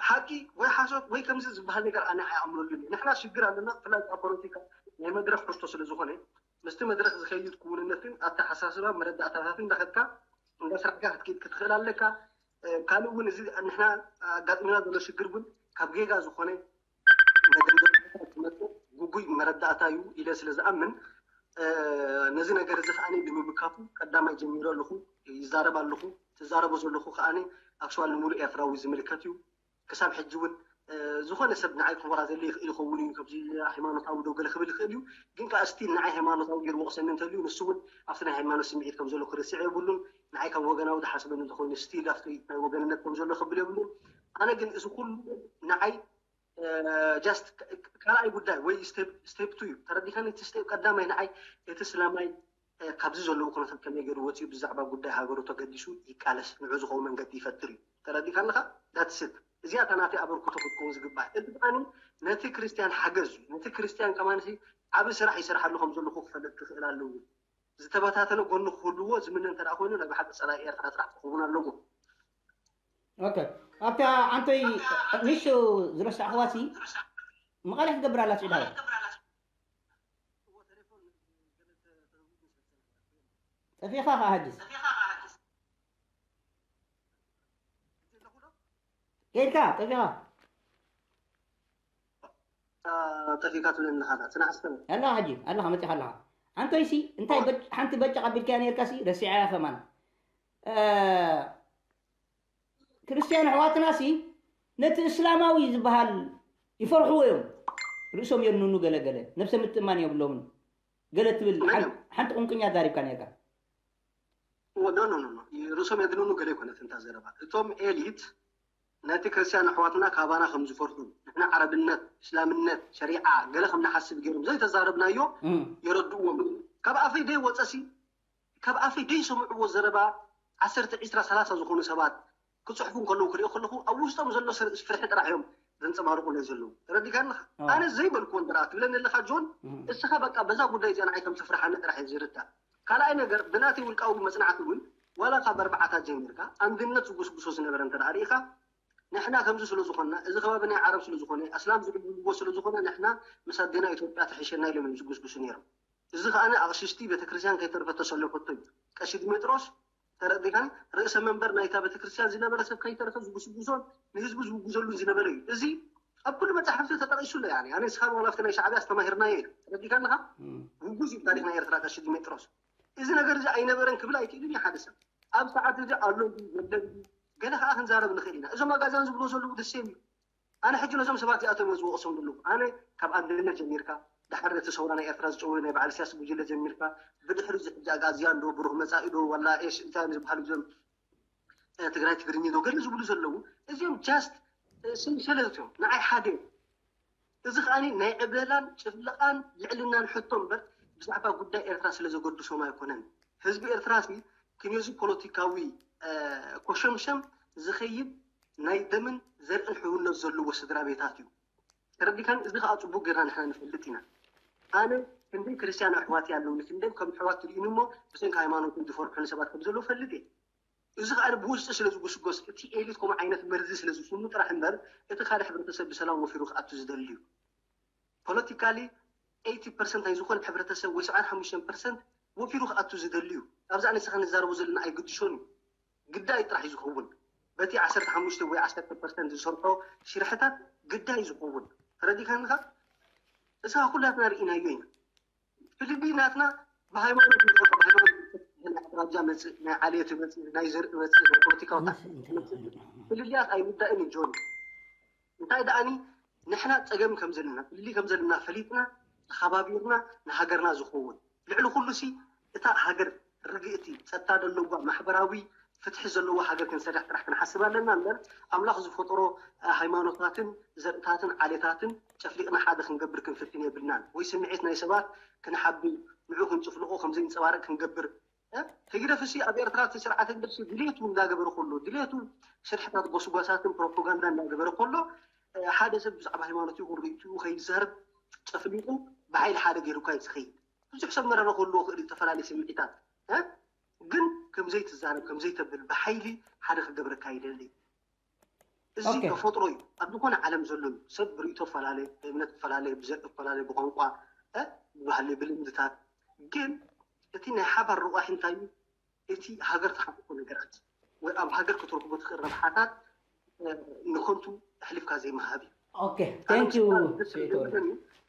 ሓቂ ወይ ሓሶት ወይ ከምዚ ዝበሃል ነገር ኣነ ኣይኣምነሉን እዩ። ንሕና ሽግር ኣለና፣ ብፍላይ ኣብ ፖለቲካ ናይ መድረኽ ሕቶ ስለ ዝኾነ፣ ምስቲ መድረኽ ዝኸይድ ክውንነትን ኣተሓሳስባ መረዳእታታትን እንዳኸድካ እንዳስራሕካ ክትከይድ ክትኽእል ኣለካ። እ፣ ካልእ እውን እዚ ንሕና ኣጋጢምና ዘሎ ሽግር እውን ካብ ጌጋ ዝኾነ መደምደምታታት ዝመጽእ ግጉይ መረዳእታ እዩ ኢለ ስለ ዝኣምን፣ እ፣ ነዚ ነገር እዚ ከኣ ብምምካቱ ቀዳማይ ጀሚረ ኣለኹ፣ ይዛረብ ኣለኹ። ትዛረቦ ዘለኹ ከኣ ኣክቹዋል ንምሉእ ኤርትራዊ ዝምልከት እዩ። ክሳብ ሕጂ እውን፣ እ፣ ዝኾነ ሰብ ንዓይ ክወራዘለይ ይኽእል ይኸውን እዩ፣ ከምዚ ሃይማኖታዊ ዶ ገለ ክብል ይኽእል እዩ። ግን ከኣ ስቲል ንዓይ ሃይማኖታዊ ገይሩ ወቕሰኒ እንተልዩ፣ ንሱ እውን ኣብቲ ናይ ሃይማኖት ስምዒት ከም ዘሎ ክርስዕ የብሉን። ንዓይ ከም ወገናዊ ዝሓስበኒ እንተኾይኑ፣ ስቲል ኣብቲ ናይ ወገንነት ከም ዘሎ ክብል የብሉን። ኣነ ግን እዚ ኩሉ ንዓይ፣ እ፣ ጃስት ካ-፣ ካልኣይ ጉዳይ ወይ ስቴፕ፣ ስቴፕ ቱ እዩ። ተረዲኻኒ? እቲ ስቴፕ ቀዳማይ ንዓይ እቲ እስላማይ፣ እ፣ ካብዚ ዘለዎ ኩነታት ከመይ ገይሩ ወፂኡ ብዛዕባ ጉዳይ ሃገሩ ተገዲሱ ይቃለስ፣ ንዑ ዝኸውን መንገዲ ይፈጥር እዩ። ተረዲኻ ኣለኻ? ዳትስ ኢት። እዚኣ እታ ናተይ ኣበርክቶ ክትከውን ዝግባእ። እዚ ከኣ ነቲ ክርስትያን ሓገዝ እዩ። ነቲ ክርስትያን ከማን ዓቢ ስራሕ ይሰርሓሉ ከም ዘለኹ ክፈልጥ ክኽእል ኣለዎ። ዝተበታተነ ጎኑ ክህልዎ ዝምነ እንተ ደኣ ኮይኑ፣ ናይ ብሓቂ ጸላኢ ኤርትራ ጥራሕ ክኸውን ኣለዎ። ኦኬ። ኣብታ ዓንቶይ ንሹ ዝረሳዕኽዋ ሲ መቐለ ክትገብር ኣላ ስዒድ ሃወይ። ጠፊኻ ኸዓ ሕጅስ ከይድካ ጠፊኻ ጠፊካ ትብለኒ ኣለካ። ጽናሕ እስከ። ኣለኻ ሕጂ ኣለኻ መጺኻ ኣለኻ። ዓንቶይሲ እንታይ በጭ-፣ ሓንቲ በጭ ኣቢልካያ ነርካሲ ረሲዓያ ከማን። እ፣ ክርስትያን ኣሕዋትናሲ ነቲ እስላማዊ ዝበሃል ይፈርሕዎ እዮም። ርእሶም የድንኑ ገለ ገለ ነብሰ ምትእማን የብሎምን። ገለ ትብል መን ሓን-፣ እዮም? ሓንቲ ቁንቁኛ ዛሪብካ ነርካ። ኖ ኖ ኖ ኖ። ርእሶም የድንኑ ገለ ይኮነት እንታ ዘረባ። እቶም ኤሊት ነቲ ክርስትያን ኣሕዋትና ካባና ከም ዝፈርሑ፣ ንሕና ዓረብነት፣ እስላምነት፣ ሸሪዓ ገለ ከም ንሓስብ ገይሮም ዘይተዛረብናዮ እም። የረድእዎም። ካብ ኣፈይ ደይ ወፀሲ፣ ካብ ኣፈይ ደይ ሰምዕዎ ዘረባ ዓሰርተ፣ ዕስራ፣ ሰላሳ ዝኾኑ ሰባት ክፅሕፉ እንከለዉ ክሪኦ ከለኹ ኣብ ውሽጦም ዘሎ ስር-፣ ፍርሒ ጥራሕ እዮም ዘንፀባርቑ ናይ ዘለዉ። ተረዲእካኒ ኢኻ? ኣዎ። ኣነ ዘይበልኩዎ እንተ ደኣ ትብለኒ ኣለኻ ጆን፣ እም። እስኻ በቃ በዛ ጉዳይ እዚኣ ንዓይ ከም ትፍርሓኒ ጥራሕ እየ ዝርዳእ። ካልኣይ ነገር ብናተይ ውልቃዊ መጽናዕቲ እውን ዋላ ካብ ኣርባዓታት ጀሚርካ ኣንድነት ዝጉስጉሶ ዝነበረ እንተ ደኣ ርኢኻ፣ ንሕና ከምዚ ስለ ዝኾንና፣ እዚ ከባቢ ናይ ዓረብ ስለ ዝኾነ፣ ኣስላም ዝዕብድዎ ስለ ዝኾነ ንሕና ምስ ኣዴና ኢትዮጵያ ትሕሸና ኢሎም እዮም ዝጉስጉሱ ነይሮም። እዚ ከኣ ኣቕሽሽቲ ቤተክርስትያን ከይተርፈ ተሰለፈቶ እዩ። ቀሺ ዲሜጥሮስ ተረዲእካኒ? ርእሰ መንበር ናይታ ቤተክርስትያን ዝነበረ ሰብ ከይተረፈ ዝጉስጉሶን ንህዝቡ ዝውግዘሉን ዝነበረ እዩ። እዚ ኣብ ኩሉ መጻሕፍቲ ተጠቒሱ ኣሎ። ያኒ ኣነ ንስኻን ዋላ ኣብቲ ናይ ሻዕብያ ኣስተማሂርናዮ ኢና። ተረዲእካኒ ኢኻ? ውጉዝ እዩ ታሪኽ ናይ ኤርትራ ቀሺ ዲሜጥሮስ። እዚ ነገር እዚ ኣይነበረን ክብል ኣይክእልን እዩ ሓደ ሰብ። ኣብ ሰዓት እዚ ኣሎ ድዩ የለን ድዩ ገለ ከኣ ክንዛረብ ንኽእል ኢና። እዞም ኣጋዝያን ዝብልዎ ዘለዉ the same እዩ። ኣነ ሕጂ ነዞም ሰባት እዚኣቶም እየ ዝወቕሶም ዘለኹ። ኣነ ካብ ኣንድነት ጀሚርካ፣ ድሓር ነቲ ሰውራ ናይ ኤርትራ ዝጨወዩ ናይ በዓል ኢሳያስ ጉጅለ ጀሚርካ፣ ብድሕሪ እዚ ሕጂ ኣጋዝያን ዶ፣ ብሩህ መጻኢ ዶ፣ ዋላ ኤሽ እንታይ እዮም ዝበሃሉ እዞም፣ እ፣ ትግራይ ትግርኛ ዶ፣ ገለ ዝብሉ ዘለዉ፣ እዚኦም ጃስት፣ እ፣ ሰንሰለት እዮም። ንዓይ ሓደ እዮም። እዚ ከኣ ናይ ዕብለላን ጭፍለቓን ልዕልናን ሕቶ እምበር ብዛዕባ ጉዳይ ኤርትራ ስለ ዘገድሶም ኣይኮነን። ህዝቢ ኤርትራ ሲ ክንዮዚ ፖለቲካዊ፣ እ፣ ኮሸምሸም ዝኸይድ ናይ ደምን ዘርእን ሕውነት ዘለዎ ስድራ ቤታት እዩ። ተረዲካን? እዚ ከኣ ጽቡቅ ጌርና ንሕና ንፈልጥ ኢና። ኣነ ክንደይ ክርስትያን ኣሕዋት ኣለውኒ፣ ክንደይ ከም ኣሕዋት ትርእዩኒ እሞ ብሰንኪ ሃይማኖቶም ዝፈርሑኒ ሰባት ከም ዘለዉ ፈልጥ እየ። እዚ ከኣ ብውሽጢ ስለ ዝጉስጎስ፣ እቲ ኤሊት ከምኡ ዓይነት መርዚ ስለ ዝስሙ ጥራሕ እምበር፣ እቲ ካልእ ሕብረተሰብ ብሰላም ወፊሩ ክኣቱ ዝደሊ እዩ። ፖለቲካሊ ኤይቲ ፐርሰንት ናይ ዝኾነ ሕብረተሰብ ወይ ሰብዓን ሓሙሽተን ፐርሰንት ወፊሩ ክኣቱ ዝደሊ እዩ። ኣብዚ ኣነ ንስኻ ንዛረቦ ዘለና ኣይግድሾን እዩ። ግዳይ ጥራሕ እዩ ዝኸውን። በቲ ዓሰርተ ሓሙሽተ ወይ ዓሰርተ ፐርሰንት ዝሰርሖ ሽርሕታት ግዳይ እዩ ዝኸውን። ተረዲካኒ ኢኻ? እስኻ ኩላትና ርኢናዮ ኢና። ፍልልይ ናትና ብሃይማኖት ንፈልጦ፣ ብሃይማኖት ናይ ኣውራጃ መጽእ፣ ናይ ዓሌት መጽእ፣ ናይ ዘርኢ መጽእ፣ ናይ ፖለቲካዊ መጽእ። ፍልልያት ኣይውዳእን እዩ ጆኒ። እንታይ ደኣኒ ንሕና ጸገም ከም ዘለና፣ ፍልልይ ከም ዘለና ፈሊጥና፣ ተኸባቢርና ንሃገርና ዝኸውን። ልዕሊ ኩሉ ሲ እታ ሃገር ርግእቲ፣ ጸጥታ ዘለዋ፣ ማሕበራዊ ፍትሒ ዘለዋ ሃገር ክንሰርሕ ጥራሕ ክንሓስብ ኣለና እምበር፣ ኣምላኽ ዝፈጠሮ፣ እ፣ ሃይማኖታትን ዘርእታትን ዓሌታትን ጨፍሊቕና ሓደ ክንገብር ክንፍትን የብልናን። ወይ ስምዒት ናይ ሰባት ክንሓቢ፣ ንዑ ክንጭፍልቖ ከም ዘይንጸባረቕ ክንገብር፣ እ፣ ህግደፍሲ ኣብ ኤርትራ እቲ ስርዓት ህግደፍሲ ድሌቱ እንዳገበረ ከሎ፣ ድሌቱ ስርሕታት ጎስጓሳትን ፕሮፓጋንዳ እንዳገበረ ከሎ፣ ሓደ ሰብ ብዛዕባ ሃይማኖት ይኹን ርእይትኡ ከይዛረብ ጨፍሊቑ ብሓይሊ ሓደ ገይሩካ እዩ ዝኸይድ። ብዙሕ ሰብ መረረ ከሎ ክእል ዝተፈላለዩ ስምዒታት ግን ከምዘይትዛረብ ከምዘይተብል ብሓይሊ ሓደ ክገብረካ ይደሊ። እዚ ተፈጥሮ እዩ። ኣብ ዝኾነ ዓለም ዘሎ ሰብ ብርእይቶ ፈላለ፣ ብእምነት ፈላለ፣ ብዘርኢ ፈላለ፣ ብቋንቋ፣ ብባህሊ፣ ብልምድታት። ግን እቲ ናይ ሓባር ረቋሒ እንታይ እዩ? እቲ ሃገር ትሓቁ ነገራት ወይ ኣብ ሃገር ክትረክቦ ትኽእል ረብሓታት ንከንቱ ኣሕሊፍካ ዘይምሃብ እዩ።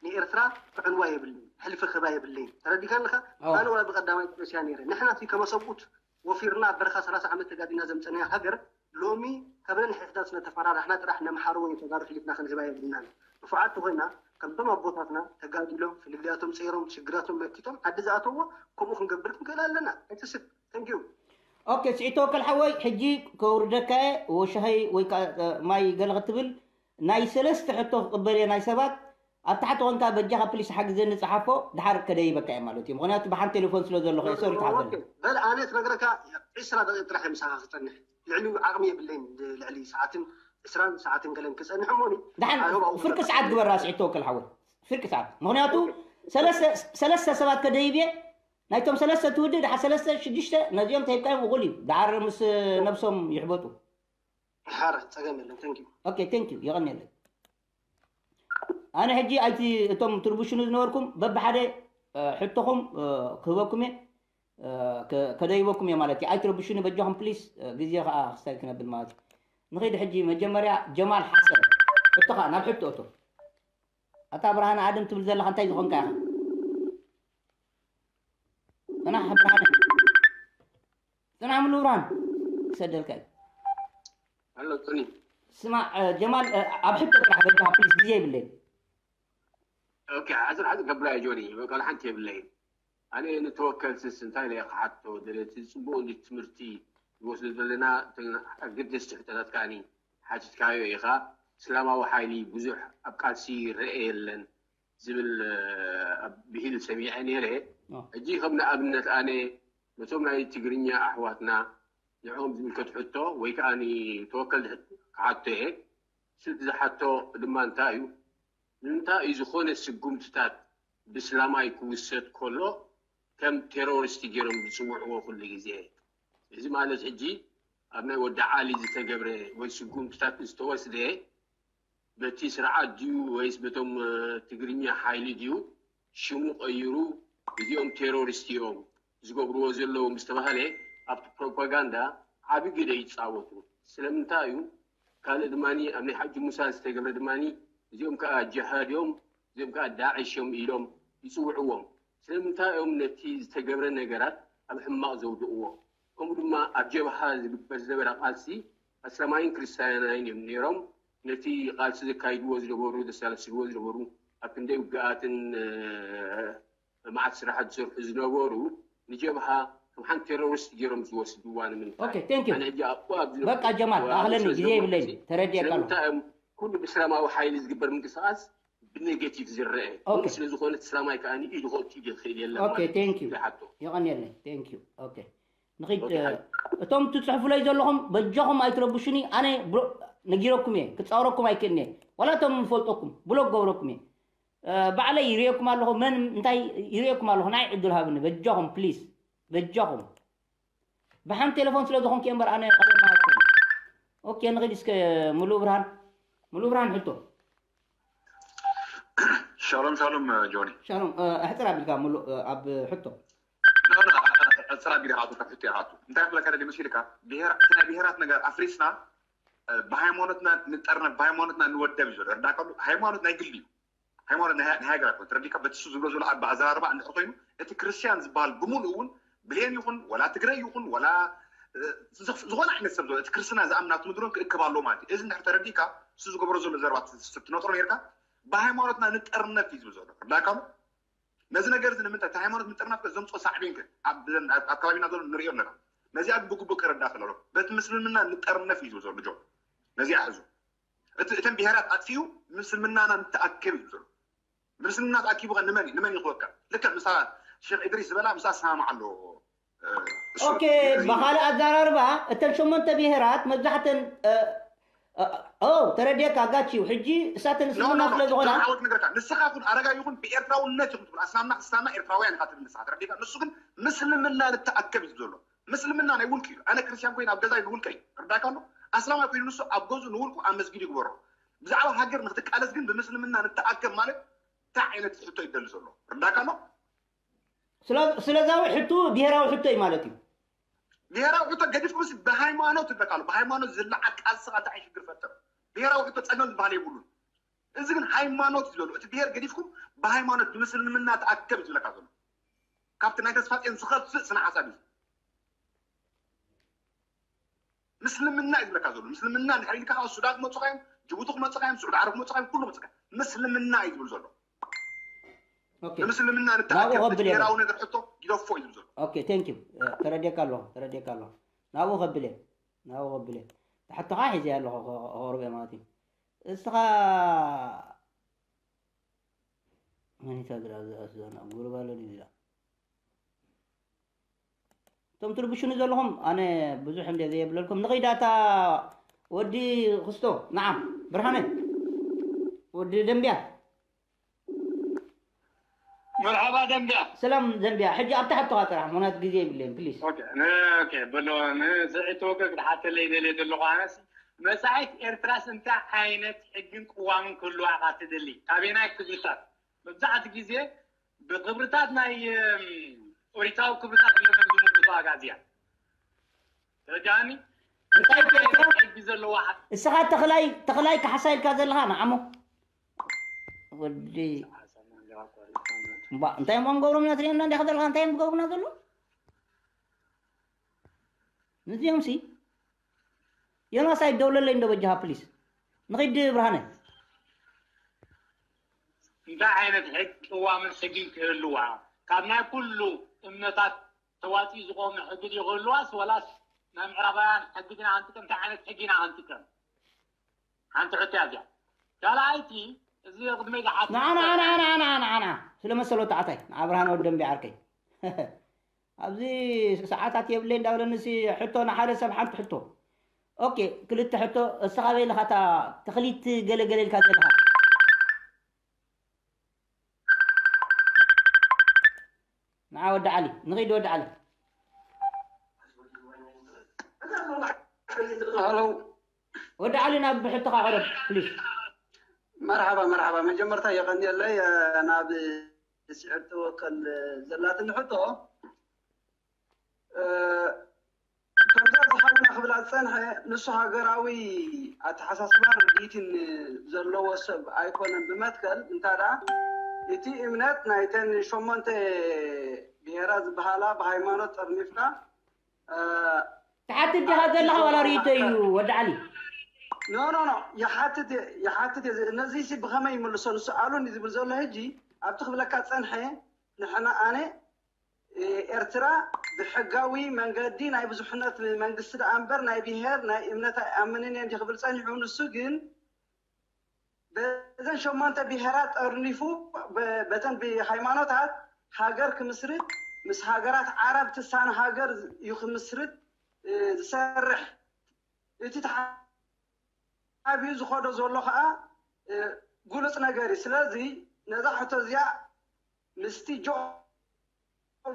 ንኤርትራ ክዕንዋ የብለይ፣ ሕልፊ ክህባ የብለይ። ተረዲካ ኣለካ? ኣነ ወላ ብቀዳማይ ጥበስያ ነይረ። ንሕና ከመሰብኡት ወፊርና ኣብ በረኻ ሰላሳ ዓመት ተጋዲና ዘምፀናያ ሃገር ሎሚ ካብ ነንሕሕታት ስለ ተፈራራሕና ጥራሕ ነምሓሮ ወይ ተጋሩ ሕሊፍና ክንህባ የብልናን። ንፉዓት ተኾይና ከምቶም ኣቦታትና ተጋዲሎም ፍልልያቶም ፀይሮም ሽግራቶም መኪቶም ዓዲ ዝኣተዎ ከምኡ ክንገብር ክንክእል ኣለና። ኣይትስብ። Thank you። ኦኬ ስዒድ ተወከል ሓወይ ሕጂ ከውርደካየ ወሻሂ ወይ ማይ ገለ ክትብል ናይ ሰለስተ ሕቶ ክቕበል እየ ናይ ሰባት ኣብ ታሕቲ ኮንካ በጃኻ ፕሊስ ሓግዘኒ ጸሓፎ ድሓር ከደይበካ እየ ማለት እዩ ምኽንያቱ ብሓንቲ ቴሌፎን ስለ ዘለኹ እየ ሶሪ ተሓዘኒ በል ኣነ ትነግረካ ዕስራ ደቂቕ ጥራሕ እየ ምሳኻ ክጸንሕ ልዕሊ ዓቕሚ የብለይን ልዕሊ ሰዓትን ዕስራን ሰዓትን ገለን ክጸንሕ እሞኒ ድሓን ፍርቂ ሰዓት ግበራ ስዒድ ተወከል ሓወይ ፍርቂ ሰዓት ምኽንያቱ ሰለስተ ሰባት ከደይብ እየ ናይቶም ሰለስተ ትውድእ ድሓር ሰለስተ ሽዱሽተ ነዚኦም ተሂብካዮም እኹል እዩ ድሓር ምስ ነብሶም ይሕበጡ ሓረ ጸገም የለን thank you okay thank you የቐንየለይ ኣነ ሕጂ ኣይቲ እቶም ትርብሽኑ ዝነበርኩም በብሓደ ሕቶኹም ክህበኩም እየ ከደይበኩም እየ ማለት እዩ ኣይትረብሹኒ በጃኹም ፕሊስ ግዜ ከዓ ክስታይ ክነብል ማለት እዩ ንኸይድ ሕጂ መጀመርያ ጀማል ሓሰን እቶኻ ናብ ሕቶ እቶ ኣታ ብርሃነ ኣደም ትብል ዘለኻ እንታይ ዝኾንካ ኢኻ ፅናሕ ብርሃነ ፅናሕ ምሉ ብርሃን ክሰደልካ እዩ ኣሎ ፅኒ ስማ ጀማል ኣብ ሕቶ ጥራሕ በጃ ፕሊስ ግዜ ይብለይ ኦኬ ሓፅር ሓፅር ገብራ ጆኒ በቃ ሓንቲ የብለይ ኣነ ንተወከልትስ እንታይ ኢለ ክሓቶ ደለቲ ፅቡቅ እንዲ ትምህርቲ ንወስዶ ዘለና ኣገደስቲ ሕቶታት ከዓኒ ሓቲትካዮ ኢኻ እስላማዊ ሓይሊ ብዙሕ ኣብ ቃልሲ ይረአ የለን ዝብል ብሂል ሰሚዐ ነይረ። ሕጂ ከም ንኣብነት ኣነ ነቶም ናይ ትግርኛ ኣሕዋትና ንዕኦም ዝምልከት ሕቶ ወይ ከዓ ንተወከል ክሓቶ እየ። ስልቲ ዝሓቶ ድማ እንታይ እዩ? ንምንታይ እዩ ዝኾነ ስጉምትታት ብስላማይ ክውሰድ ከሎ ከም ቴሮሪስት ገይሮም ዝፅውዕዎ ኩሉ ግዜ? እዚ ማለት ሕጂ ኣብ ናይ ወዲ ዓሊ ዝተገብረ ወይ ስጉምትታት ዝተወስደ በቲ ስርዓት ድዩ ወይስ በቶም ትግርኛ ሓይሊ ድዩ ሽሙ ቀይሩ እዚኦም ቴሮሪስት እዮም ዝገብርዎ ዘለዉ ምስ ተባህለ ኣብቲ ፕሮፓጋንዳ ዓቢ ግደ ይፃወቱ። ስለምንታይ እዩ? ካልእ ድማ ኣብ ናይ ሓጂ ሙሳ ዝተገብረ ድማ እዚኦም ከዓ ጅሃድ እዮም፣ እዚኦም ከዓ ዳዕሽ እዮም ኢሎም ይፅውዕዎም። ስለምንታይ እዮም ነቲ ዝተገብረ ነገራት ኣብ ሕማቕ ዘውድቕዎ? ከምኡ ድማ ኣብ ጀብሃ ዝግበር ዝነበረ ቃልሲ ኣስላማይን ክርስትያናይን እዮም ነይሮም። ነቲ ቃልሲ ዘካይድዎ ዝነበሩ ዘሳለስልዎ ዝነበሩ ኣብ ክንደይ ውግኣትን መዓት ስራሓት ዝሰርሑ ዝነበሩ ንጀብሃ ከም ሓንቲ ቴሮሪስት ገይሮም ዝወስድዋ ንምንታይ? Okay, thank you. ኣነ ሕጂ ኣብኡ ኣብ ዝነበርኩ በቃ ጀማል፣ ኣብ ኣኽለኒ፣ ግዜ የብለይን። ተረዲኤካ ኣለኹ። ስለምንታይ እዮም ኩሉ ብእስላማዊ ሓይሊ ዝግበር ምንቅስቓስ ብኔጌቲቭ ዝረአ? ከምኡ ስለ ዝኾነ እቲ እስላማይ ከኣ ኢዱ ከእቱ ይኽእል የለን ማለት እዩ። ዝሓቶ። የቐንየለይ። Thank you። Okay. ንኺድ እቶም ትጽሕፉለይ ዘለኹም በጃኹም ኣይትረብሹኒ ኣነ ነጊረኩም እየ ክጻወረኩም ኣይክእልን እየ ዋላ እቶም ንፈልጠኩም ብሎክ ገብረኩም እየ ባዕለይ ይርእየኩም ኣለኹ መን እንታይ ይርእየኩም ኣለኹ ናይ ዕድል ሃብኒ በጃኹም ፕሊስ በጃኹም ብሓንቲ ቴሌፎን ስለ ዝኾንኩ እየ እምበር ኣነ ቀደም ኣይኮነ ኦኬ ንኺድ እስከ ሙሉእ ብርሃን ሙሉእ ብርሃን ሕቶ ሻሎም ሻሎም ጆኒ ሻሎም ኣሕፅር ኣቢልካ ሙሉእ ኣብ ሕቶ ፅራ ቢልካ ኣቶ ካብ ሕቶ ይኣቱ እንታይ ክብለካ ደሊ መሲልካ እቲ ናይ ብሄራት ነገር ኣፍሪስና ብሃይማኖትና ንጠርነፍ ብሃይማኖትና ንወደብ እዩ ዘሎ ርዳእካ ሃይማኖት ናይ ግሊ እዩ ሃይማኖት ናይ ሃገር ኣይኮነ ተረዲካ በቲ እሱ ዝብሎ ዘሎ ኣባ ኣዘራርባ እንድሕር ኮይኑ እቲ ክርስትያን ዝበሃል ብምሉእ እውን ብሌን ይኹን ወላ ትግረ ይኹን ወላ ዝኾነ ዓይነት ሰብ ዘሎ እቲ ክርስትና ዝኣምናት ምድሮም ክእክብ ኣለዎ ማለት እዩ እዚ እንድሕር ተረዲካ እሱ ዝገብሮ ዘሎ ዘረባ ትነጥሮ ነርካ ብሃይማኖትና ንጠርነፍ እዩ ዝብል ዘሎ ርዳእካ ኣሎ ነዚ ነገር እዚ ንምንታይ እቲ ሃይማኖት ምጥርናፍ ከ ዘምፅኦ ሳዕቤን ከ ኣብ ኣብ ከባቢና ዘሎ ንሪኦ ኣለና ነዚኣ ግን ብግቡእ ክረዳእ ከለሎ በቲ ምስልምና ንጠርነፍ እዩ ዝብል ዘሎ ጆ ነዚኣ ሕዙ እቲ እተን ብሄራት ኣጥፊኡ ምስልምናና ንተኣከብ እዩ ዝብል ዘሎ ምስልምና ተኣኪቡ ከ ንመን እዩ ንመን ይኽወካ ልክዕ ምሳ ሼክ እድሪስ ዝበላ ምሳ ሰማማዕ ኣሎ ኦኬ፣ ብኻልእ ኣዘራርባ እተን ሸሞንተ ብሄራት መብዛሕተን ኦ ተረዲየካ ጋችው ሕጂ እሳተን እስልምና ስለ ዝኾና ዓወት ነገርካ ንስኻ ኩን ኣረጋ ይኹን ብኤርትራውነት ይኹን ትብል ኣስላምና ክርስትያንና ኤርትራውያን ኢኻ ትብል ንስኻ ተረዲካ። ንሱ ግን ምስልምና ንተኣከብ እዩ ዘሎ። ምስልምና ናይ ውልቂ እዩ። ኣነ ክርስቲያን ኮይነ ኣብ ገዛይ ንውልቀይ ርዳካ ኣሎ። ኣስላማይ ኮይኑ ንሱ ኣብ ገዝኡ ንውልቁ ኣብ መስጊድ ይግበሮ። ብዛዕባ ሃገር ንክትቃለስ ግን ብምስልምና ንተኣከብ ማለት እንታይ ዓይነት ሕቶ ይደሊ ዘሎ ርዳካ ኣሎ። ስለዛዊ ሕቱ ብሄራዊ ሕቶ እዩ ማለት እዩ። ብሄራዊ ሕቶ ገዲፍኩም ስ ብሃይማኖት ይበቃሉ። ብሃይማኖት ዝለዓል ቃልስኻ እንታይ ሽግር ፈጥር? ብሄራዊ ሕቶ ጸገም ዝበሃል የብሉን። እዚ ግን ሃይማኖት እዩ ዘሎ። እቲ ብሄር ገዲፍኩም ብሃይማኖት ብምስልምና ተኣከብ ዝብለካ ዘሎ ካብቲ ናይ ተስፋ ጤን ዝኸፍእ ስነ ሓሳብ እዩ። ምስልምና እዩ ዝብለካ ዘሎ። ምስልምና እንድሕር ኢልካ ካብ ሱዳን ክመፁኻ እዮም፣ ጅቡቲ ክመፁኻ እዮም፣ ስዑዲ ዓረብ ክመፁኻ እዮም፣ ኩሉ ክመፁኻ እዮም። ምስልምና እዩ ዝብል ዘሎ። ኦኬ። ንምስልምና ንተኣከብ ናብኡ ከብል ብሄራዊ ነገር ሕቶ ግደፎ እዩ ዝብል ዘሎ። ኦኬ፣ ቴንክ ዩ። ተረዲየካ ኣለኹ፣ ተረዲየካ ኣለኹ። ናብኡ ከብል እየ፣ ናብኡ ከብል እየ። ሕቶኻ ሒዘ ኣለኹ፣ ከቕርብ እየ ማለት እዩ። እስኻ መን እዩ እዛ ዝረኣ እዛ ሱዛና? ጉርባሎ ድዩ እዚኣ? እቶም ትርብሹኒ ዘለኹም ኣነ ብዙሕ እንደ ዘየብለልኩም ንኸይዳታ ወዲ ክስቶ ንዓ ብርሃነ ወዲ ደንብያ መርሓባ ደንብያ ሰላም ደንብያ ሕጂ ኣብታ ሕቶኻ ጥራሕ ምክንያቱ ግዜ የብለይን ፕሊስ ኦኬ ነ- ኦኬ በሎ ንስዒት ወገግ ድሓተለይ ደልየ ዘለኹ ኣነስ መጻኢት ኤርትራስ እንታይ ዓይነት ሕግን ቅዋምን ክህልዋ ኢኻ ትደሊ ካበየናይ ክብርታት መብዛሕቲ ግዜ ብክብርታት ናይ ኦሪታዊ ክብርታት እዮም ዝምልክቱ ኣጋዝያ ተረዳኒ እንታይ እንታይ ተረዳ? ዓይነት ሕጊ ዘለዋ ዓዲ እስኻ ተኽላይ ተኽላይ ካሕሳ ኢልካ ዘለኻ ንዓሞ ወዲ እምባ እንታይ እሞ ንገብሮም ኢና ትሪእና እንዲኻ ዘለኻ እንታይ እዮም ዝገብሩና ዘሎ ንዚኦም ሲ ዮናስ ኣይደውለለይ እንዶ በጃኻ ፕሊስ ንኺድ ብርሃነ እንታይ ዓይነት ሕጊ ቅዋምን ሕግን ክህልዋ ካብ ናይ ኩሉ እምነታት ተዋፂኡ ዝቆመ ሕጊ ድዩ ክህልዋስ ወላስ ናይ ምዕራባውያን ሕጊ ዲና ክንጥቀም እንታይ ዓይነት ሕጊ ኢና ክንጥቀም ሓንቲ ሕቶ እያ እዚኣ ካልኣይቲ እዚ ቅድመይ ዝሓት ንዓ ንዓ ንዓ ንዓ ንዓ ንዓ ንዓ ስለ መሰሎ ተዓታይ ንዓ ብርሃነ ወዲ ደንቢ ዓርከይ ኣብዚ ሰዓታት የብለይ እንዳበለኒ ሲ ሕቶ ንሓደ ሰብ ሓንቲ ሕቶ ኦኬ ክልተ ሕቶ እስኻ በይ ለኻ እታ ተኽሊት ገለገለ ኢልካ ዘለኻ ንዓ ወዲ ዓሊ ንኺድ ወዲ ዓሊ ሄሎ ወዲ ዓሊ ናብ ሕቶኻ ቅረብ ፕሊስ መርሓባ መርሓባ መጀመርታ የቐንየለይ ናብ ስዕር ትወከል ዘላትኒ ሕቶ ከምዛ ዝሓውና ክብላ ዝፀንሐ ንሱ ሃገራዊ ኣተሓሳስባን ርድኢትን ዘለዎ ሰብ ኣይኮነን ብመትከል እንታ ደኣ እቲ እምነት ናይተን ሸሞንተ ብሄራት ዝበሃላ ብሃይማኖት ጠርኒፍካ ትሓትት ዲኻ ዘለኻ ዋላ ርእይቶ እዩ ወዲ ዓሊ ኖ ኖ ኖ ይሓትት ይሓትት ነዚ ሲ ብኸመይ ይምልሶ ንሱ ኣሉኒ ዝብል ዘሎ ሕጂ ኣብቲ ክብለካ ፀንሐ ንሕና ኣነ ኤርትራ ብሕጋዊ መንገዲ ናይ ብዙሕነት መንግስቲ ደኣ እምበር ናይ ብሄር ናይ እምነት ኣይኣምንን እየ እንዲ ክብል ጸኒሑ። ንሱ ግን በዘን ሸሞንተ ብሄራት ጠርኒፉ በተን ብሃይማኖታት ሃገር ክምስርት ምስ ሃገራት ዓረብ ትሳነ ሃገር እዩ ክምስርት ዝሰርሕ። እቲ ተሓቢኡ ዝኸዶ ዘሎ ከዓ ግሉፅ ነገር እዩ። ስለዚ ነዛ ሕቶ እዚኣ ምስቲ ጂኦፖለቲክስ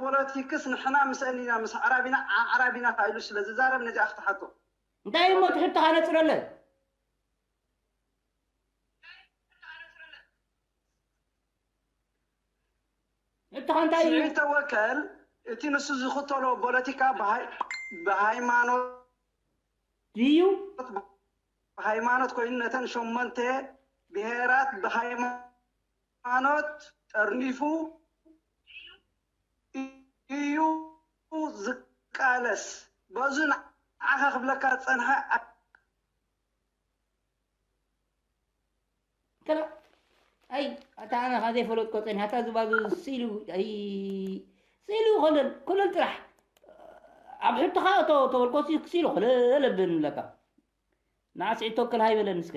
ንሕና ምስአን ኢና፣ ምስ ኣዕራብ ኢና፣ ዓዕራብ ኢና ኢሉ ስለ ዝዛረብ ነዚኣ ክትሓቶ። እንታይ እሞ እቲ ሕቶኻ ነፅረለን? ሕቶኻ እንታይ እዩ? ስዒድ ተወከል እቲ ንሱ ዝኽተሎ ፖለቲካ ብሃይ- ብሃይማኖት ድዩ? ብሃይማኖት ኮይኑ ነተን ሸሞንተ ብሄራት ብሃይማኖት ጠርኒፉ እዩ ዝቃለስ። በዙ ንዓኻ ክብለካ ዝጸንሐ ከላ ኣይ ኣታ ኣነ ካብ ዘይፈለጥኮ ጸኒሓ እታ ዝባዙ ስኢሉ ኣይ ስኢሉ ኮለል ኮለል ጥራሕ ኣብ ሕቶኻ እቶ ተበልኮ ሲ ክሲሉ ኮለል ኣብን ለካ ንዓስዒ ተወከል ሃይበለን እስከ